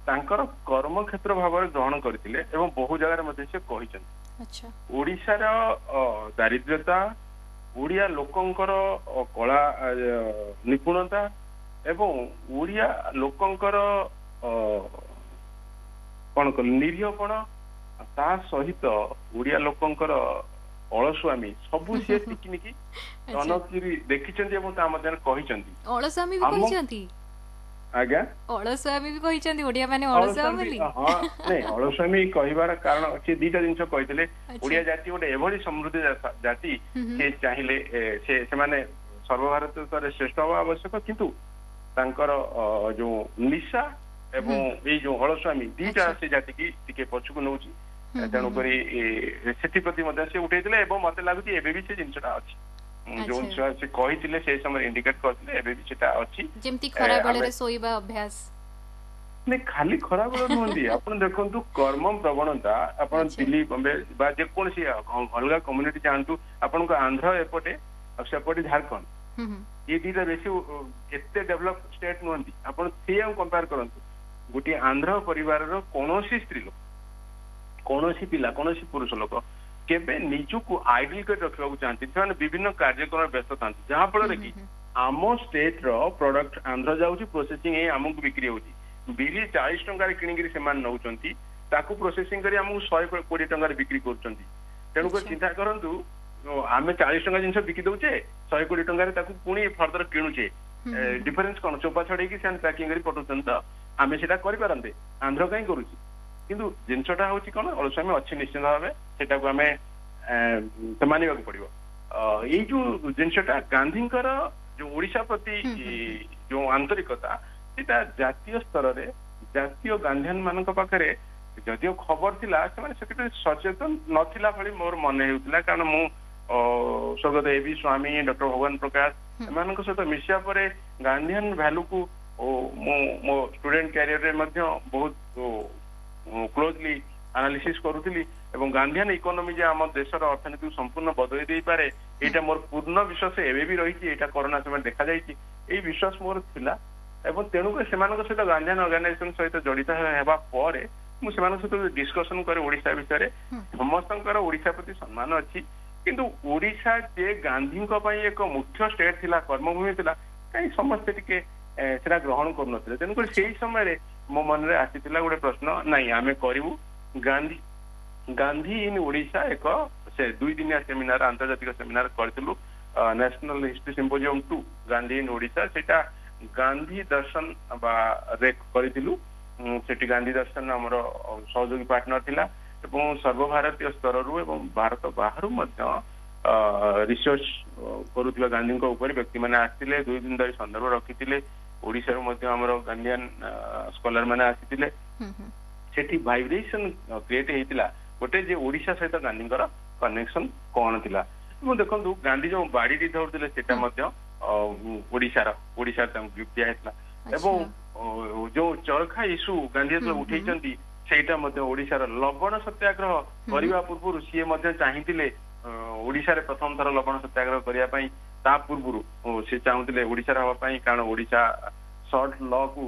ତାଙ୍କର କର୍ମକ୍ଷେତ୍ର ଭାବରେ ଗ୍ରହଣ କରିଥିଲେ ଏବଂ ବହୁ ଜାଗାରେ ମଧ୍ୟ ସେ କହିଛନ୍ତି ଓଡିଶାର ଦାରିଦ୍ର୍ୟତା, ଓଡିଆ ଲୋକଙ୍କର କଳା ନିପୁଣତା ଏବଂ ଓଡିଆ ଲୋକଙ୍କର କଣ କଲେ ନିରୀହପଣ, ତା ସହିତ ଓଡିଆ ଲୋକଙ୍କର ଅଳସୁଆମୀ, ସବୁ ସିଏ ଟିକିନିକି ତନଖିରି ଦେଖିଛନ୍ତି ଏବଂ ତା ମଧ୍ୟରେ କହିଛନ୍ତି। ଅଳସୁଆମୀ ବି କହିଛନ୍ତି? ଆଜ୍ଞା, ଅଳସୁଆମୀ ବି କହିଛନ୍ତି ଓଡିଆ ମାନେ ଅଳସୁଆ ବୋଲି? ହଁ, ନାଇଁ, ଅଳସୁଆମୀ କହିବାର କାରଣ ସେ ଦିଟା ଜିନିଷ କହିଥିଲେ। ଓଡିଆ ଜାତି ଗୋଟେ ଏଭଳି ସମୃଦ୍ଧ ଜାତି, ସେ ଚାହିଁଲେ ସେ ସେମାନେ ସର୍ବଭାରତ ସ୍ତରରେ ଶ୍ରେଷ୍ଠ ହବା ଆବଶ୍ୟକ, କିନ୍ତୁ ତାଙ୍କର ଯୋଉ ନିଶା ଏବଂ ଏଇ ଯୋଉ ଅଳସୁଆମୀ ଦିଟା ସେ ଜାତିକି ଟିକେ ପଛକୁ ନଉଛି। ତେଣୁକରି ସେଥିପ୍ରତି ମଧ୍ୟ ସେ ଉଠେଇଥିଲେ ଏବଂ ମତେ ଲାଗୁଛି ଏବେ ବି ସେ ଜିନିଷଟା ଅଛି, ଯୋଉ ଜିନିଷ ସେ କହିଥିଲେ ସେଇ ସମୟରେ ଇଣ୍ଡିକେଟ କରିଥିଲେ, ଏବେ ବି ସେଟା ଅଛି। ଯେମିତି ଖରା ବେଳରେ ଶୋଇବା ଅଭ୍ୟାସ। ନାଇଁ, ଖାଲି ଖରାବେଳ ନୁହନ୍ତି। ଆପଣ ଦେଖନ୍ତୁ କର୍ମ ପ୍ରବଣତା, ଆପଣ ଦିଲ୍ଲୀ, ବମ୍ବେ ବା ଯେକୌଣସି ଅଲଗା କମ୍ୟୁନିଟି ଯାଆନ୍ତୁ, ଆପଣଙ୍କ ଆନ୍ଧ୍ର ଏପଟେ ଆଉ ସେପଟେ ଝାଡଖଣ୍ଡ, ଏ ଦିଟା ବେଶୀ ଏତେ ଡେଭଲପ ଷ୍ଟେଟ ନୁହନ୍ତି। ଆପଣ ସେଇଆକୁ କମ୍ପେୟାର କରନ୍ତୁ, ଗୋଟିଏ ଆନ୍ଧ୍ର ପରିବାରର କୌଣସି ସ୍ତ୍ରୀ ଲୋକ, କୌଣସି ପିଲା, କୌଣସି ପୁରୁଷ ଲୋକ କେବେ ନିଜକୁ ଆଇଡଲ କରି ରଖିବାକୁ ଚାହାନ୍ତି। ସେମାନେ ବିଭିନ୍ନ କାର୍ଯ୍ୟକ୍ରମରେ ବ୍ୟସ୍ତ ଥାନ୍ତି, ଯାହା ଫଳରେ କି ଆମ ଷ୍ଟେଟ ର ପ୍ରଡକ୍ଟ ଆନ୍ଧ୍ର ଯାଉଛି, ପ୍ରୋସେସିଂ ହେଇ ଆମକୁ ବିକ୍ରି ହଉଛି। ବିରି ଚାଳିଶ ଟଙ୍କାରେ କିଣିକିରି ସେମାନେ ନଉଛନ୍ତି, ତାକୁ ପ୍ରୋସେସିଂ କରି ଆମକୁ ଶହେ କୋଡିଏ ଟଙ୍କାରେ ବିକ୍ରି କରୁଛନ୍ତି। ତେଣୁକରି ଚିନ୍ତା କରନ୍ତୁ, ଆମେ ଚାଳିଶ ଟଙ୍କା ଜିନିଷ ବିକି ଦଉଛେ, ଶହେ କୋଡିଏ ଟଙ୍କାରେ ତାକୁ ପୁଣି ଫର୍ଦର କିଣୁଛେ। ଡିଫରେନ୍ସ କଣ? ଚୋପା ଛଡେଇକି ସେମାନେ ପ୍ୟାକିଂ କରି ପଠଉଛନ୍ତି। ତ ଆମେ ସେଟା କରିପାରନ୍ତେ, ଆନ୍ଧ୍ର କାହିଁ କରୁଛି? କିନ୍ତୁ ଜିନିଷଟା ହଉଛି କଣ, ଅଳସୁଆମି ଅଛି ନିଶ୍ଚିତ ଭାବେ, ସେଟାକୁ ଆମେ ମାନିବାକୁ ପଡିବ। ଏଇ ଯୋଉ ଜିନିଷଟା ଗାନ୍ଧୀଙ୍କର ଯୋଉ ଓଡିଶା ପ୍ରତି ଯୋଉ ଆନ୍ତରିକତା, ସେଟା ଜାତୀୟ ସ୍ତରରେ ଜାତୀୟ ଗାନ୍ଧିଆନ ମାନଙ୍କ ପାଖରେ ଯଦିଓ ଖବର ଥିଲା, ସେମାନେ ସେଥିପାଇଁ ସଚେତନ ନଥିଲା ଭଳି ମୋର ମନେ ହେଉଥିଲା। କାରଣ ମୁଁ ସ୍ୱର୍ଗତ ଏ ବି ସ୍ୱାମୀ, ଡକ୍ଟର ଭଗବାନ ପ୍ରକାଶ ଏମାନଙ୍କ ସହିତ ମିଶିବା ପରେ ଗାନ୍ଧିଆନ ଭ୍ୟାଲୁକୁ ମୁଁ ମୋ ଷ୍ଟୁଡେଣ୍ଟ କ୍ୟାରିୟରରେ ମଧ୍ୟ ବହୁତ କ୍ଲୋଜଲି ଆନାଲିସିସ୍ କରୁଥିଲି ଏବଂ ଗାନ୍ଧିଆନ ଇକୋନୋମି ଯେ ଆମ ଦେଶର ଅର୍ଥନୀତିକୁ ସମ୍ପୂର୍ଣ୍ଣ ବଦଳି ଦେଇପାରେ, ଏଇଟା ମୋର ପୂର୍ଣ୍ଣ ବିଶ୍ୱାସ ଏବେ ବି ରହିଛି। ଏଇଟା କରୋନା ସମୟରେ ଦେଖାଯାଇଛି। ଏଇ ବିଶ୍ୱାସ ମୋର ଥିଲା ଏବଂ ତେଣୁକରି ସେମାନଙ୍କ ସହିତ ଗାନ୍ଧିଆନ ଅର୍ଗାନାଇଜେସନ ସହିତ ଜଡିତ ହେବା ପରେ ମୁଁ ସେମାନଙ୍କ ସହିତ ଡିସ୍କସନ କରେ ଓଡିଶା ବିଷୟରେ। ସମସ୍ତଙ୍କର ଓଡିଶା ପ୍ରତି ସମ୍ମାନ ଅଛି, କିନ୍ତୁ ଓଡିଶା ଯେ ଗାନ୍ଧୀଙ୍କ ପାଇଁ ଏକ ମୁଖ୍ୟ ଷ୍ଟେଟ ଥିଲା, କର୍ମଭୂମି ଥିଲା, କାହିଁ ସମସ୍ତେ ଟିକେ ସେଟା ଗ୍ରହଣ କରୁନଥିଲେ। ତେଣୁକରି ସେଇ ସମୟରେ ମୋ ମନରେ ଆସିଥିଲା ଗୋଟେ ପ୍ରଶ୍ନ, ନାଇଁ ଆମେ କରିବୁ ଗାନ୍ଧୀ ଗାନ୍ଧୀ ଇନ୍ ଓଡିଶା। ଏକ ସେ ଦୁଇ ଦିନିଆ ସେମିନାର, ଆନ୍ତର୍ଜାତିକ ସେମିନାର କରିଥିଲୁ, national history symposium two Gandhi in Odisha. ସେଇଟା ଗାନ୍ଧୀ ଦର୍ଶନ ବା କରିଥିଲୁ। ସେଠି ଗାନ୍ଧୀ ଦର୍ଶନ ଆମର ସହଯୋଗୀ ପାର୍ଟନର ଥିଲା ଏବଂ ସର୍ବଭାରତୀୟ ସ୍ତରରୁ ଏବଂ ଭାରତ ବାହାରୁ ମଧ୍ୟ ରିସର୍ଚ୍ଚ କରୁଥିବା ଗାନ୍ଧୀଙ୍କ ଉପରେ ବ୍ୟକ୍ତିମାନେ ଆସିଥିଲେ, ଦୁଇ ଦିନ ଧରି ସନ୍ଦର୍ଭ ରଖିଥିଲେ। ଓଡିଶାରୁ ମଧ୍ୟ ଆମର ଗାନ୍ଧିଆନ ସ୍କଲାର ମାନେ ଆସିଥିଲେ। ସେଠି ଭାଇବ୍ରେସନ କ୍ରିଏଟ ହେଇଥିଲା ଗୋଟେ ଯେ ଓଡିଶା ସହିତ ଗାନ୍ଧୀଙ୍କର କନେକ୍ସନ କଣ ଥିଲା। ଏବଂ ଦେଖନ୍ତୁ, ଗାନ୍ଧୀ ଯୋଉ ବାଡିଟି ଧରୁଥିଲେ ସେଟା ମଧ୍ୟ ଓଡିଶାର, ଓଡିଶାରେ ତାଙ୍କୁ ଗିଫ୍ଟ ଦିଆହେଇଥିଲା। ଏବଂ ଯୋଉ ଚରଖା ଇସ୍ୟୁ ଗାନ୍ଧୀ ଯେତେବେଳେ ଉଠେଇଛନ୍ତି, ସେଇଟା ମଧ୍ୟ ଓଡିଶାର। ଲବଣ ସତ୍ୟାଗ୍ରହ କରିବା ପୂର୍ବରୁ ସିଏ ମଧ୍ୟ ଚାହିଁଥିଲେ ଓଡିଶାରେ ପ୍ରଥମ ଥର ଲବଣ ସତ୍ୟାଗ୍ରହ କରିବା ପାଇଁ। ତା ପୂର୍ବରୁ ସେ ଚାହୁଁଥିଲେ ଓଡିଶାରେ ହବା ପାଇଁ, କାରଣ ଓଡିଶା ସଲ୍ଟ ଲ କୁ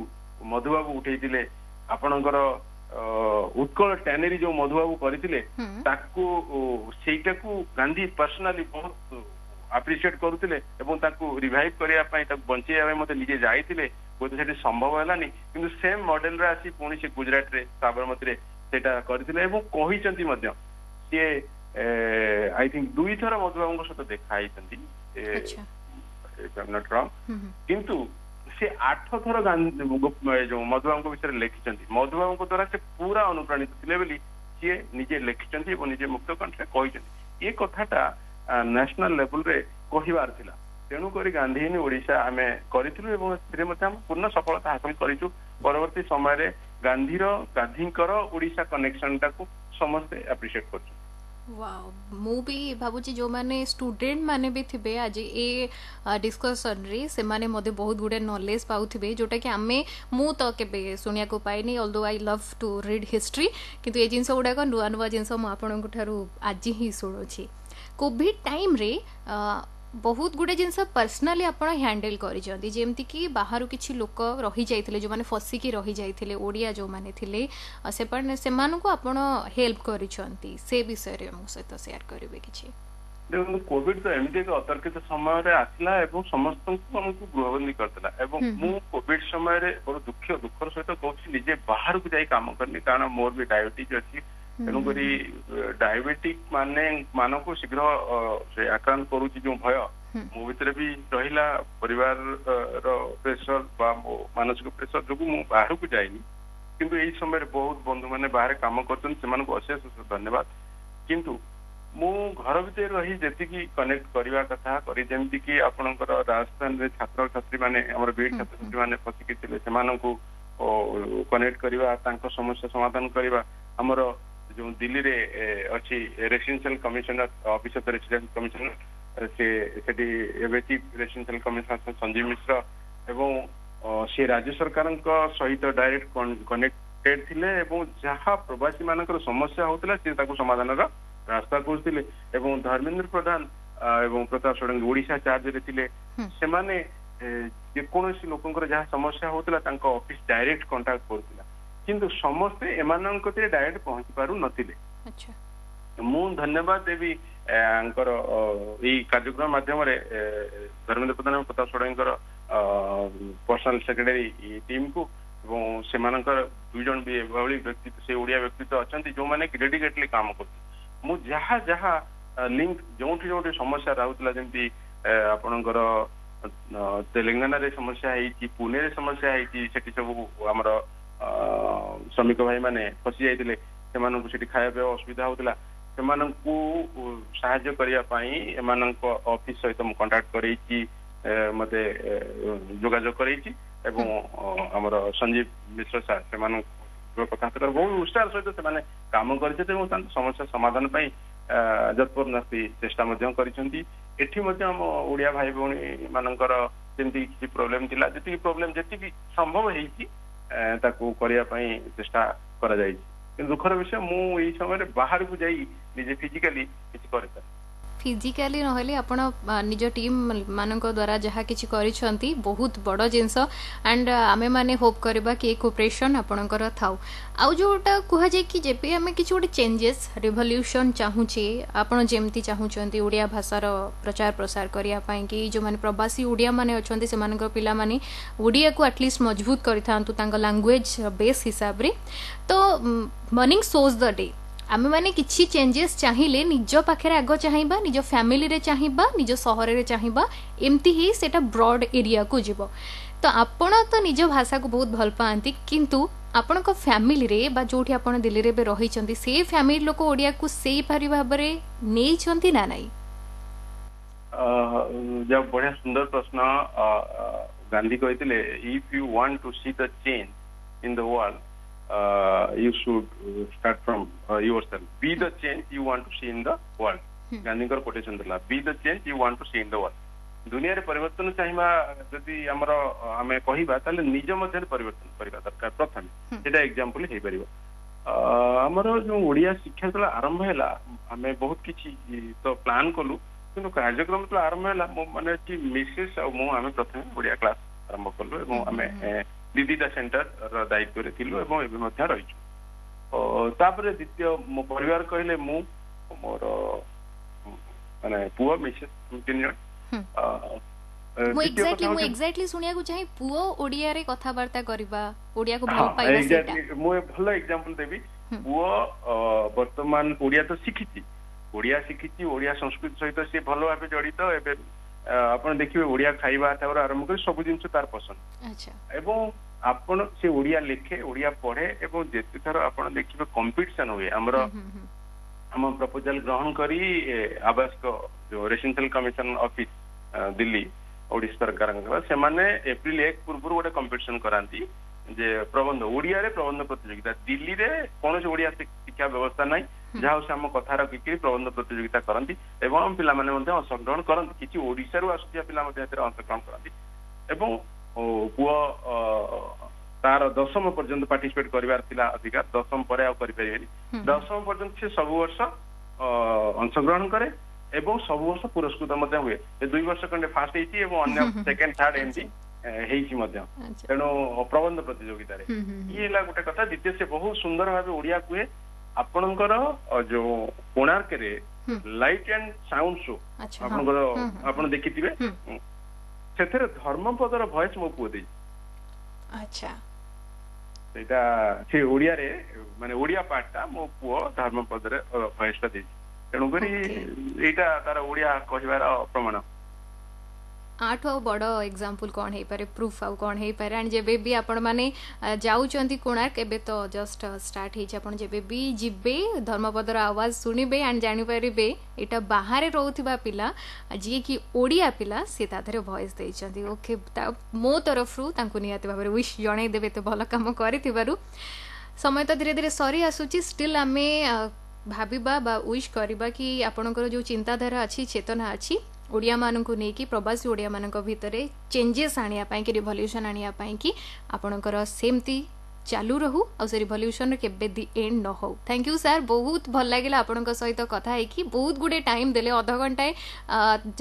ମଧୁବାବୁ ଉଠେଇଥିଲେ। ଆପଣଙ୍କର ଉତ୍କଳ ଟ୍ୟାନେରୀ ଯୋଉ ମଧୁବାବୁ କରିଥିଲେ, ତାକୁ ସେଇଟାକୁ ଗାନ୍ଧୀ ପର୍ସନାଲି ବହୁତ ଆପ୍ରିସିଏଟ କରୁଥିଲେ ଏବଂ ତାକୁ ରିଭାଇଭ କରିବା ପାଇଁ, ତାକୁ ବଞ୍ଚେଇବା ପାଇଁ ମଧ୍ୟ ନିଜେ ଯାଇଥିଲେ। ହୁଏତ ସେଠି ସମ୍ଭବ ହେଲାନି, କିନ୍ତୁ ସେମ୍ ମଡେଲରେ ଆସି ପୁଣି ସେ ଗୁଜରାଟରେ ସାବରମତୀରେ ସେଇଟା କରିଥିଲେ ଏବଂ କହିଛନ୍ତି ମଧ୍ୟ ସିଏ I think ଦୁଇଥର ମଧୁବାବୁଙ୍କ ସହିତ ଦେଖା ହେଇଛନ୍ତି, କିନ୍ତୁ ସେ ଆଠ ଥର ଯୋଉ ମଧୁବାବୁଙ୍କ ବିଷୟରେ ଲେଖିଛନ୍ତି। ମଧୁବାବୁଙ୍କ ଦ୍ଵାରା ସେ ପୁରା ଅନୁପ୍ରାଣିତ ଥିଲେ ବୋଲି ସିଏ ନିଜେ ଲେଖିଛନ୍ତି ଏବଂ ନିଜେ ମୁକ୍ତ କଣ୍ଠରେ କହିଛନ୍ତି। ଏ କଥାଟା ନ୍ୟାସନାଲ ଲେଭେଲରେ କହିବାର ଥିଲା, ତେଣୁକରି ଗାନ୍ଧୀ ଇନ୍ ଓଡିଶା ଆମେ କରିଥିଲୁ ଏବଂ ସେଥିରେ ମଧ୍ୟ ଆମେ ପୂର୍ଣ୍ଣ ସଫଳତା ହାସଲ କରିଛୁ। ପରବର୍ତ୍ତୀ ସମୟରେ ଗାନ୍ଧୀର ଗାନ୍ଧୀଙ୍କର ଓଡିଶା କନେକ୍ସନଟାକୁ ସମସ୍ତେ ଆପ୍ରିସିଏଟ କରୁଛନ୍ତି। ମୁଁ ବି ଭାବୁଛି ଯେଉଁମାନେ ଷ୍ଟୁଡେଣ୍ଟ ମାନେ ବି ଥିବେ ଆଜି ଏ ଡିସ୍କସନରେ, ସେମାନେ ମଧ୍ୟ ବହୁତ ଗୁଡ଼େ ନଲେଜ ପାଉଥିବେ, ଯେଉଁଟାକି ଆମେ ମୁଁ ତ କେବେ ଶୁଣିବାକୁ ପାଇନି। Although I love to read history, କିନ୍ତୁ ଏ ଜିନିଷ ଗୁଡ଼ାକ ନୂଆ ନୂଆ ଜିନିଷ ମୁଁ ଆପଣଙ୍କ ଠାରୁ ଆଜି ହିଁ ଶୁଣୁଛି। କୋଭିଡ ଟାଇମ୍ରେ ବହୁତ ଗୁଡ଼େ ଜିନିଷ ପର୍ସନାଲି ଆପଣ ହ୍ୟାଣ୍ଡେଲ୍ କରିଛନ୍ତି, ଯେମିତିକି ବାହାରୁ କିଛି ଲୋକ ରହିଯାଇଥିଲେ, ଯେଉଁମାନେ ଫସିକି ରହିଯାଇଥିଲେ, ଓଡ଼ିଆ ଯେଉଁମାନେ ଥିଲେ, ସେମାନେ ସେମାନଙ୍କୁ ଆପଣ ହେଲ୍ପ କରିଛନ୍ତି। ସେ ବିଷୟରେ ଆମ ସହିତ ସେୟାର କରିବେ କିଛି? ଦେଖନ୍ତୁ, କୋଭିଡ ତ ଏମିତି ଏକ ଅତର୍କିତ ସମୟରେ ଆସିଲା ଏବଂ ସମସ୍ତଙ୍କୁ ଆମକୁ ଗୃହବନ୍ଦୀ କରିଦେଲା। ଏବଂ ମୁଁ କୋଭିଡ ସମୟରେ ବଡ ଦୁଃଖ ଦୁଃଖର ସହିତ କହୁଛି, ନିଜେ ବାହାରକୁ ଯାଇ କାମ କରିନି, କାରଣ ମୋର ବି ଡାଇବେଟିସ୍ ଅଛି। ତେଣୁକରି ଡାଇବେଟିକ ମାନେ ମାନଙ୍କୁ ଶୀଘ୍ର ସେ ଆକ୍ରାନ୍ତ କରୁଛି ଯୋଉ ଭୟ ମୋ ଭିତରେ ବି ରହିଲା, ପରିବାରର ପ୍ରେସର ବା ମୋ ମାନସିକ ପ୍ରେସର ଯୋଗୁଁ ମୁଁ ବାହାରକୁ ଯାଇନି। କିନ୍ତୁ ଏଇ ସମୟରେ ବହୁତ ବନ୍ଧୁ ମାନେ ବାହାରେ କାମ କରୁଛନ୍ତି, ସେମାନଙ୍କୁ ଅଶେଷ ଅଶେଷ ଧନ୍ୟବାଦ। କିନ୍ତୁ ମୁଁ ଘର ଭିତରେ ରହି ଯେତିକି କନେକ୍ଟ କରିବା କଥା କରି, ଯେମିତି କି ଆପଣଙ୍କର ରାଜସ୍ଥାନରେ ଛାତ୍ରଛାତ୍ରୀ ମାନେ, ଆମର ବିଏଡ୍ ଛାତ୍ରଛାତ୍ରୀ ମାନେ ଫସିକି ଥିଲେ, ସେମାନଙ୍କୁ କନେକ୍ଟ କରିବା, ତାଙ୍କ ସମସ୍ୟା ସମାଧାନ କରିବା। ଆମର ଯୋଉ ଦିଲ୍ଲୀରେ ଅଛି residential commissioner, office of residential commissioner, ସେ ସେଠି ଏବେ chief residential commissioner Sanjeev Mishra ଏବଂ ସେ ରାଜ୍ୟ ସରକାରଙ୍କ ସହିତ ଡାଇରେକ୍ଟ କନେକ୍ଟେଡ ଥିଲେ ଏବଂ ଯାହା ପ୍ରବାସୀ ମାନଙ୍କର ସମସ୍ୟା ହଉଥିଲା ସେ ତାକୁ ସମାଧାନର ରାସ୍ତା ଖୋଜୁଥିଲେ। ଏବଂ ଧର୍ମେନ୍ଦ୍ର ପ୍ରଧାନ ଏବଂ ପ୍ରତାପ ଷଡଙ୍ଗୀ ଓଡିଶା ଚାର୍ଜରେ ଥିଲେ, ସେମାନେ ଯେକୌଣସି ଲୋକଙ୍କର ଯାହା ସମସ୍ୟା ହଉଥିଲା ତାଙ୍କ ଅଫିସ ଡାଇରେକ୍ଟ କଣ୍ଟାକ୍ଟ କରୁଥିଲା, କିନ୍ତୁ ସମସ୍ତେ ଏମାନଙ୍କ କତିରେ ଡାଇରେକ୍ଟ ପହଞ୍ଚି ପାରୁନଥିଲେ। ମୁଁ ଧନ୍ୟବାଦ ଦେବି ଙ୍କର ଏଇ କାର୍ଯ୍ୟକ୍ରମ ମାଧ୍ୟମରେ ଧର୍ମେନ୍ଦ୍ର ପ୍ରଧାନ ଏବଂ ପ୍ରତାପ ଷଡଙ୍ଗୀଙ୍କର ପର୍ସନାଲ ସେକ୍ରେଟାରୀ ଟିମକୁ, ଏବଂ ସେମାନଙ୍କର ଦୁଇ ଜଣ ବି ଏଭଳି ବ୍ୟକ୍ତିତ୍ୱ, ସେ ଓଡିଆ ବ୍ୟକ୍ତିତ୍ୱ ଅଛନ୍ତି ଯୋଉମାନେ କି ଡେଡିକେଟଲି କାମ କରୁଛନ୍ତି। ମୁଁ ଯାହା ଯାହା ଲିଙ୍କ ଯୋଉଠି ଯୋଉଠି ସମସ୍ୟା ରହୁଥିଲା, ଯେମିତି ଆପଣଙ୍କର ତେଲେଙ୍ଗାନାରେ ସମସ୍ୟା ହେଇଛି, ପୁନେରେ ସମସ୍ୟା ହେଇଛି, ସେଠି ସବୁ ଆମର ଶ୍ରମିକ ଭାଇ ମାନେ ଫସି ଯାଇଥିଲେ, ସେମାନଙ୍କୁ ସେଠି ଖାଇବା ପିଇବା ଅସୁବିଧା ହଉଥିଲା, ସେମାନଙ୍କୁ ସାହାଯ୍ୟ କରିବା ପାଇଁ ଏମାନଙ୍କ ଅଫିସ ସହିତ ମୁଁ କଣ୍ଟାକ୍ଟ କରେଇଛି, ମତେ ଯୋଗାଯୋଗ କରେଇଛି। ଏବଂ ଆମର ସଞ୍ଜୀବ ମିଶ୍ର ସାର୍ ସେମାନଙ୍କ କଥା ବହୁତ ଉତ୍ସାହ ସହିତ ସେମାନେ କାମ କରିଛନ୍ତି ଏବଂ ତାଙ୍କ ସମସ୍ୟା ସମାଧାନ ପାଇଁ ଯତ୍ପରୋନାସ୍ତି ଚେଷ୍ଟା ମଧ୍ୟ କରିଛନ୍ତି। ଏଠି ମଧ୍ୟ ଆମ ଓଡିଆ ଭାଇ ଭଉଣୀ ମାନଙ୍କର ଯେମିତି କିଛି ପ୍ରୋବ୍ଲେମ ଥିଲା, ଯେତିକି ପ୍ରୋବ୍ଲେମ ଯେତିକି ସମ୍ଭବ ହେଇଛି ତାକୁ କରିବା ପାଇଁ ଚେଷ୍ଟା କରାଯାଇଛି। କିନ୍ତୁ ଦୁଃଖର ବିଷୟ, ମୁଁ ଏଇ ସମୟରେ ବାହାରକୁ ଯାଇ ନିଜେ ଫିଜିକାଲି କିଛି କରିପାରେ ଫିଜିକାଲି ନହେଲେ ଆପଣ ନିଜ ଟିମ୍ ମାନଙ୍କ ଦ୍ୱାରା ଯାହା କିଛି କରିଛନ୍ତି ବହୁତ ବଡ଼ ଜିନିଷ। ଆଣ୍ଡ ଆମେମାନେ ହୋପ୍ କରିବା କି ଏ କୋପରେସନ୍ ଆପଣଙ୍କର ଥାଉ। ଆଉ ଯେଉଁଟା କୁହାଯାଏ କି ଯେବେ ଆମେ କିଛି ଗୋଟେ ଚେଞ୍ଜେସ୍ ରିଭଲ୍ୟୁସନ୍ ଚାହୁଁଛେ, ଆପଣ ଯେମିତି ଚାହୁଁଛନ୍ତି ଓଡ଼ିଆ ଭାଷାର ପ୍ରଚାର ପ୍ରସାର କରିବା ପାଇଁ କି ଯେଉଁମାନେ ପ୍ରବାସୀ ଓଡ଼ିଆମାନେ ଅଛନ୍ତି ସେମାନଙ୍କର ପିଲାମାନେ ଓଡ଼ିଆକୁ ଆଟଲିଷ୍ଟ ମଜବୁତ କରିଥାନ୍ତୁ ତାଙ୍କ ଲାଙ୍ଗୁଏଜ ବେସ୍ ହିସାବରେ, ତ ମର୍ଣ୍ଣିଂ ସୋଜ୍ ଦ ଡେ। ଆମେମାନେ କିଛି ଚେଞ୍ଜେସ୍ ଚାହିଁଲେ ନିଜ ପାଖରେ ଆଗ ଚାହିଁବା, ନିଜ ଫ୍ୟାମିଲିରେ ଚାହିଁବା, ନିଜ ସହରରେ ଚାହିଁବା, ଏମିତି ହିଁ ସେଇଟା ବ୍ରଡ୍ ଏରିଆକୁ ଯିବ। ତ ଆପଣ ତ ନିଜ ଭାଷାକୁ ବହୁତ ଭଲ ପାଆନ୍ତି, କିନ୍ତୁ ଆପଣଙ୍କ ଫ୍ୟାମିଲିରେ ବା ଯୋଉଠି ଆପଣ ଦିଲ୍ଲୀରେ ଏବେ ରହିଛନ୍ତି ସେ ଫ୍ୟାମିଲି ଲୋକ ଓଡ଼ିଆକୁ ସେଇପରି ଭାବରେ ନେଇଛନ୍ତି ନା ନାଇଁ? ବଢିଆ ସୁନ୍ଦର ପ୍ରଶ୍ନ। ଗାନ୍ଧୀ କହିଥିଲେ, if you want to see the change in the world, uh, you should start from uh, yourself. Be the change you want to see in the world. ଗାନ୍ଧୀଙ୍କର କୋଟେସନ ଥିଲା, be the change you want to see in the world. ଦୁନିଆରେ ପରିବର୍ତ୍ତନ ଚାହିଁବା ଯଦି ଆମର ଆମେ କହିବା, ତାହେଲେ ନିଜ ମଧ୍ୟରେ ପରିବର୍ତ୍ତନ କରିବା ଦରକାର ପ୍ରଥମେ, ସେଇଟା ଏକ୍ଜାମ୍ପଲ ହେଇପାରିବ। ଆମର ଯୋଉ ଓଡିଆ ଶିକ୍ଷା ଯେତେବେଳେ ଆରମ୍ଭ ହେଲା, ଆମେ ବହୁତ କିଛି ତ ପ୍ଲାନ୍ କଲୁ, କିନ୍ତୁ କାର୍ଯ୍ୟକ୍ରମ ଯେତେବେଳେ ଆରମ୍ଭ ହେଲା, ମୁଁ ମାନେ ଅଛି ମିସେସ୍ ଆଉ ମୁଁ, ଆମେ ପ୍ରଥମେ ଓଡିଆ କ୍ଲାସ ଆରମ୍ଭ କଲୁ ଏବଂ ଆମେ ଦି ଦିଟା ସେଣ୍ଟର ର ଦାୟିତ୍ୱରେ ଥିଲୁ ଏବଂ ଏବେ ମଧ୍ୟ ରହିଛୁ। ତାପରେ ଦ୍ୱିତୀୟ ମୋ ପରିବାର କହିଲେ ମୁଁ, ମୋର ମାନେ ପୁଅ, ମିସେସ୍, ତିନି ଜଣ। ମୁଁ ଏକ୍ଜାକ୍ଟଲି ମୁଁ ଏକ୍ଜାକ୍ଟଲି ଶୁଣିବାକୁ ଚାହେଁ, ପୁଅ ଓଡିଆରେ କଥାବାର୍ତ୍ତା କରିବା, ଓଡିଆକୁ ଭଲ ପାଇବା। ସେଇଟା ମୁଁ ଭଲ ଏକ୍ଜାମ୍ପଲ ଦେବି। ପୁଅ ବର୍ତ୍ତମାନ ଓଡିଆ ତ ଶିଖିଛି, ଓଡିଆ ଶିଖିଛି, ଓଡିଆ ସଂସ୍କୃତି ସହିତ ସିଏ ଭଲ ଭାବେ ଜଡିତ। ଏବେ ଆପଣ ଦେଖିବେ ଓଡିଆ ଖାଇବା ଠାରୁ ଆରମ୍ଭ କରି ସବୁ ଜିନିଷ ତାର ପସନ୍ଦ, ଏବଂ ଆପଣ ସେ ଓଡିଆ ଲେଖେ, ଓଡିଆ ପଢେ। ଏବଂ ଯେତେଥର ଆପଣ ଦେଖିବେ କମ୍ପିଟିସନ ହୁଏ, ଆମର ଆମ ପ୍ରପୋଜାଲ ଗ୍ରହଣ କରି ଆବାସିକ ଯୋଉ residential commission office Delhi Odisha ସରକାରଙ୍କର, ସେମାନେ ଏପ୍ରିଲ ଏକ ପୂର୍ବରୁ ଗୋଟେ କମ୍ପିଟିସନ କରାନ୍ତି ଯେ ପ୍ରବନ୍ଧ, ଓଡିଆରେ ପ୍ରବନ୍ଧ ପ୍ରତିଯୋଗିତା। ଦିଲ୍ଲୀରେ କୌଣସି ଓଡିଆ ଶିକ୍ଷା ବ୍ୟବସ୍ଥା ନାହିଁ, ଯାହା ହଉ ସେ ଆମ କଥା ରଖିକିରି ପ୍ରବନ୍ଧ ପ୍ରତିଯୋଗିତା କରନ୍ତି ଏବଂ ଆମ ପିଲାମାନେ ମଧ୍ୟ ଅଂଶଗ୍ରହଣ କରନ୍ତି। କିଛି ଓଡିଶାରୁ ଆସୁଥିବା ପିଲା ମଧ୍ୟ ଏଥିରେ ଅଂଶଗ୍ରହଣ କରନ୍ତି। ଏବଂ ପୁଅ ତାର ଦଶମ ପର୍ଯ୍ୟନ୍ତ ପାର୍ଟିସିପେଟ କରିବାର ଥିଲା ଅଧିକାର, ଦଶମ ପରେ ଆଉ କରିପାରିବେନି। ଦଶମ ପର୍ଯ୍ୟନ୍ତ ସେ ସବୁ ବର୍ଷ ଅଂଶଗ୍ରହଣ କରେ ଏବଂ ସବୁ ବର୍ଷ ପୁରସ୍କୃତ ମଧ୍ୟ ହୁଏ। ଦୁଇ ବର୍ଷ ଖଣ୍ଡେ ଫାଷ୍ଟ ହେଇଛି ଏବଂ ଅନ୍ୟ ସେକେଣ୍ଡ ଥାର୍ଡ ଏମିତି ହେଇଛି ମଧ୍ୟ। ତେଣୁ ପ୍ରବନ୍ଧ ପ୍ରତିଯୋଗିତାରେ ଇଏ ହେଲା ଗୋଟେ କଥା। ଦ୍ୱିତୀୟ, ସେ ବହୁତ ସୁନ୍ଦର ଭାବେ ଓଡିଆ କୁହେ। ଆପଣଙ୍କର ଯୋଉ କୋଣାର୍କରେ ଲାଇଟ୍ ଆଣ୍ଡ ସାଉଣ୍ଡ ଶୋ ଆପଣଙ୍କର ଆପଣ ଦେଖିଥିବେ, ସେଥିରେ ଧର୍ମପଦର ଭଏସ ମୋ ପୁଅ ଦେଇଛି। ଆଚ୍ଛା ସେଇଟା ସେ ଓଡିଆରେ, ମାନେ ଓଡିଆ ପାର୍ଟଟା ମୋ ପୁଅ ଧର୍ମପଦରେ ଭଏସ ଟା ଦେଇଛି। ତେଣୁକରି ଏଇଟା ତାର ଓଡିଆ କହିବାର ପ୍ରମାଣ। ଆଠୁ ଆଉ ବଡ଼ ଏକ୍ଜାମ୍ପଲ୍ କ'ଣ ହେଇପାରେ, ପ୍ରୁଫ୍ ଆଉ କ'ଣ ହେଇପାରେ? ଆଣ୍ଡ ଯେବେ ବି ଆପଣମାନେ ଯାଉଛନ୍ତି କୋଣାର୍କ, ଏବେ ତ ଜଷ୍ଟ ଷ୍ଟାର୍ଟ ହେଇଛି, ଆପଣ ଯେବେ ବି ଯିବେ ଧର୍ମପଦର ଆୱାଜ ଶୁଣିବେ ଆଣ୍ଡ ଜାଣିପାରିବେ ଏଇଟା ବାହାରେ ରହୁଥିବା ପିଲା ଯିଏକି ଓଡ଼ିଆ ପିଲା, ସେ ତା ଦେହରେ ଭଏସ୍ ଦେଇଛନ୍ତି। ଓକେ, ମୋ ତରଫରୁ ତାଙ୍କୁ ନିହାତି ଭାବରେ ୱିଶ୍ ଜଣାଇଦେବେ ଏତେ ଭଲ କାମ କରିଥିବାରୁ। ସମୟ ତ ଧୀରେ ଧୀରେ ସରି ଆସୁଛି, ଷ୍ଟିଲ୍ ଆମେ ଭାବିବା ବା ୱିଶ୍ କରିବା କି ଆପଣଙ୍କର ଯେଉଁ ଚିନ୍ତାଧାରା ଅଛି, ଚେତନା ଅଛି, ଓଡ଼ିଆମାନଙ୍କୁ ନେଇକି ପ୍ରବାସୀ ଓଡ଼ିଆମାନଙ୍କ ଭିତରେ ଚେଞ୍ଜେସ୍ ଆଣିବା ପାଇଁ କି ରିଭଲ୍ୟୁସନ୍ ଆଣିବା ପାଇଁ କି ଆପଣଙ୍କର ସେମିତି ଚାଲୁ ରହୁ ଆଉ ସେ ରିଭଲ୍ୟୁସନ୍ର କେବେ ଦି ଏଣ୍ଡ ନ ହଉ। Thank you sir, ବହୁତ ଭଲ ଲାଗିଲା ଆପଣଙ୍କ ସହିତ କଥା ହେଇକି। ବହୁତ ଗୁଡ଼େ ଟାଇମ୍ ଦେଲେ, ଅଧଘଣ୍ଟାଏ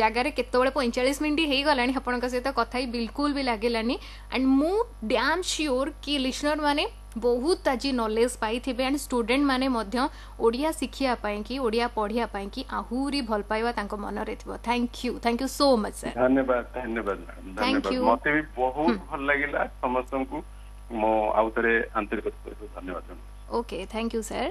ଜାଗାରେ କେତେବେଳେ ପଇଁଚାଳିଶ ମିନିଟ୍ ହେଇଗଲାଣି। ଆପଣଙ୍କ ସହିତ କଥା ହେଇ ବିଲକୁଲ ବି ଲାଗିଲାନି। ଆଣ୍ଡ ମୁଁ ଡ୍ୟାମ୍ ସିଓର କି ଲିସନର ମାନେ ବହୁତ ଆଜି ନଲେଜ ପାଇଥିବେ, ଆଣ୍ଡ ଷ୍ଟୁଡେଣ୍ଟ ମାନେ ମଧ୍ୟ ଓଡ଼ିଆ ଶିଖିବା ପାଇଁକି, ଓଡ଼ିଆ ପଢ଼ିବା ପାଇଁକି ଆହୁରି ଭଲ ପାଇବା ତାଙ୍କ ମନରେ ଥିବ। Thank you, thank you so much sir. ଧନ୍ୟବାଦ, ଧନ୍ୟବାଦ, ଧନ୍ୟବାଦ। ମତେ ବି ବହୁତ ଭଲ ଲାଗିଲା। ସମସ୍ତଙ୍କୁ ମୁଁ ଆଉ ଥରେ ଆନ୍ତରିକ ଧନ୍ୟବାଦ ଜଣାଉଛି। Okay, thank you sir.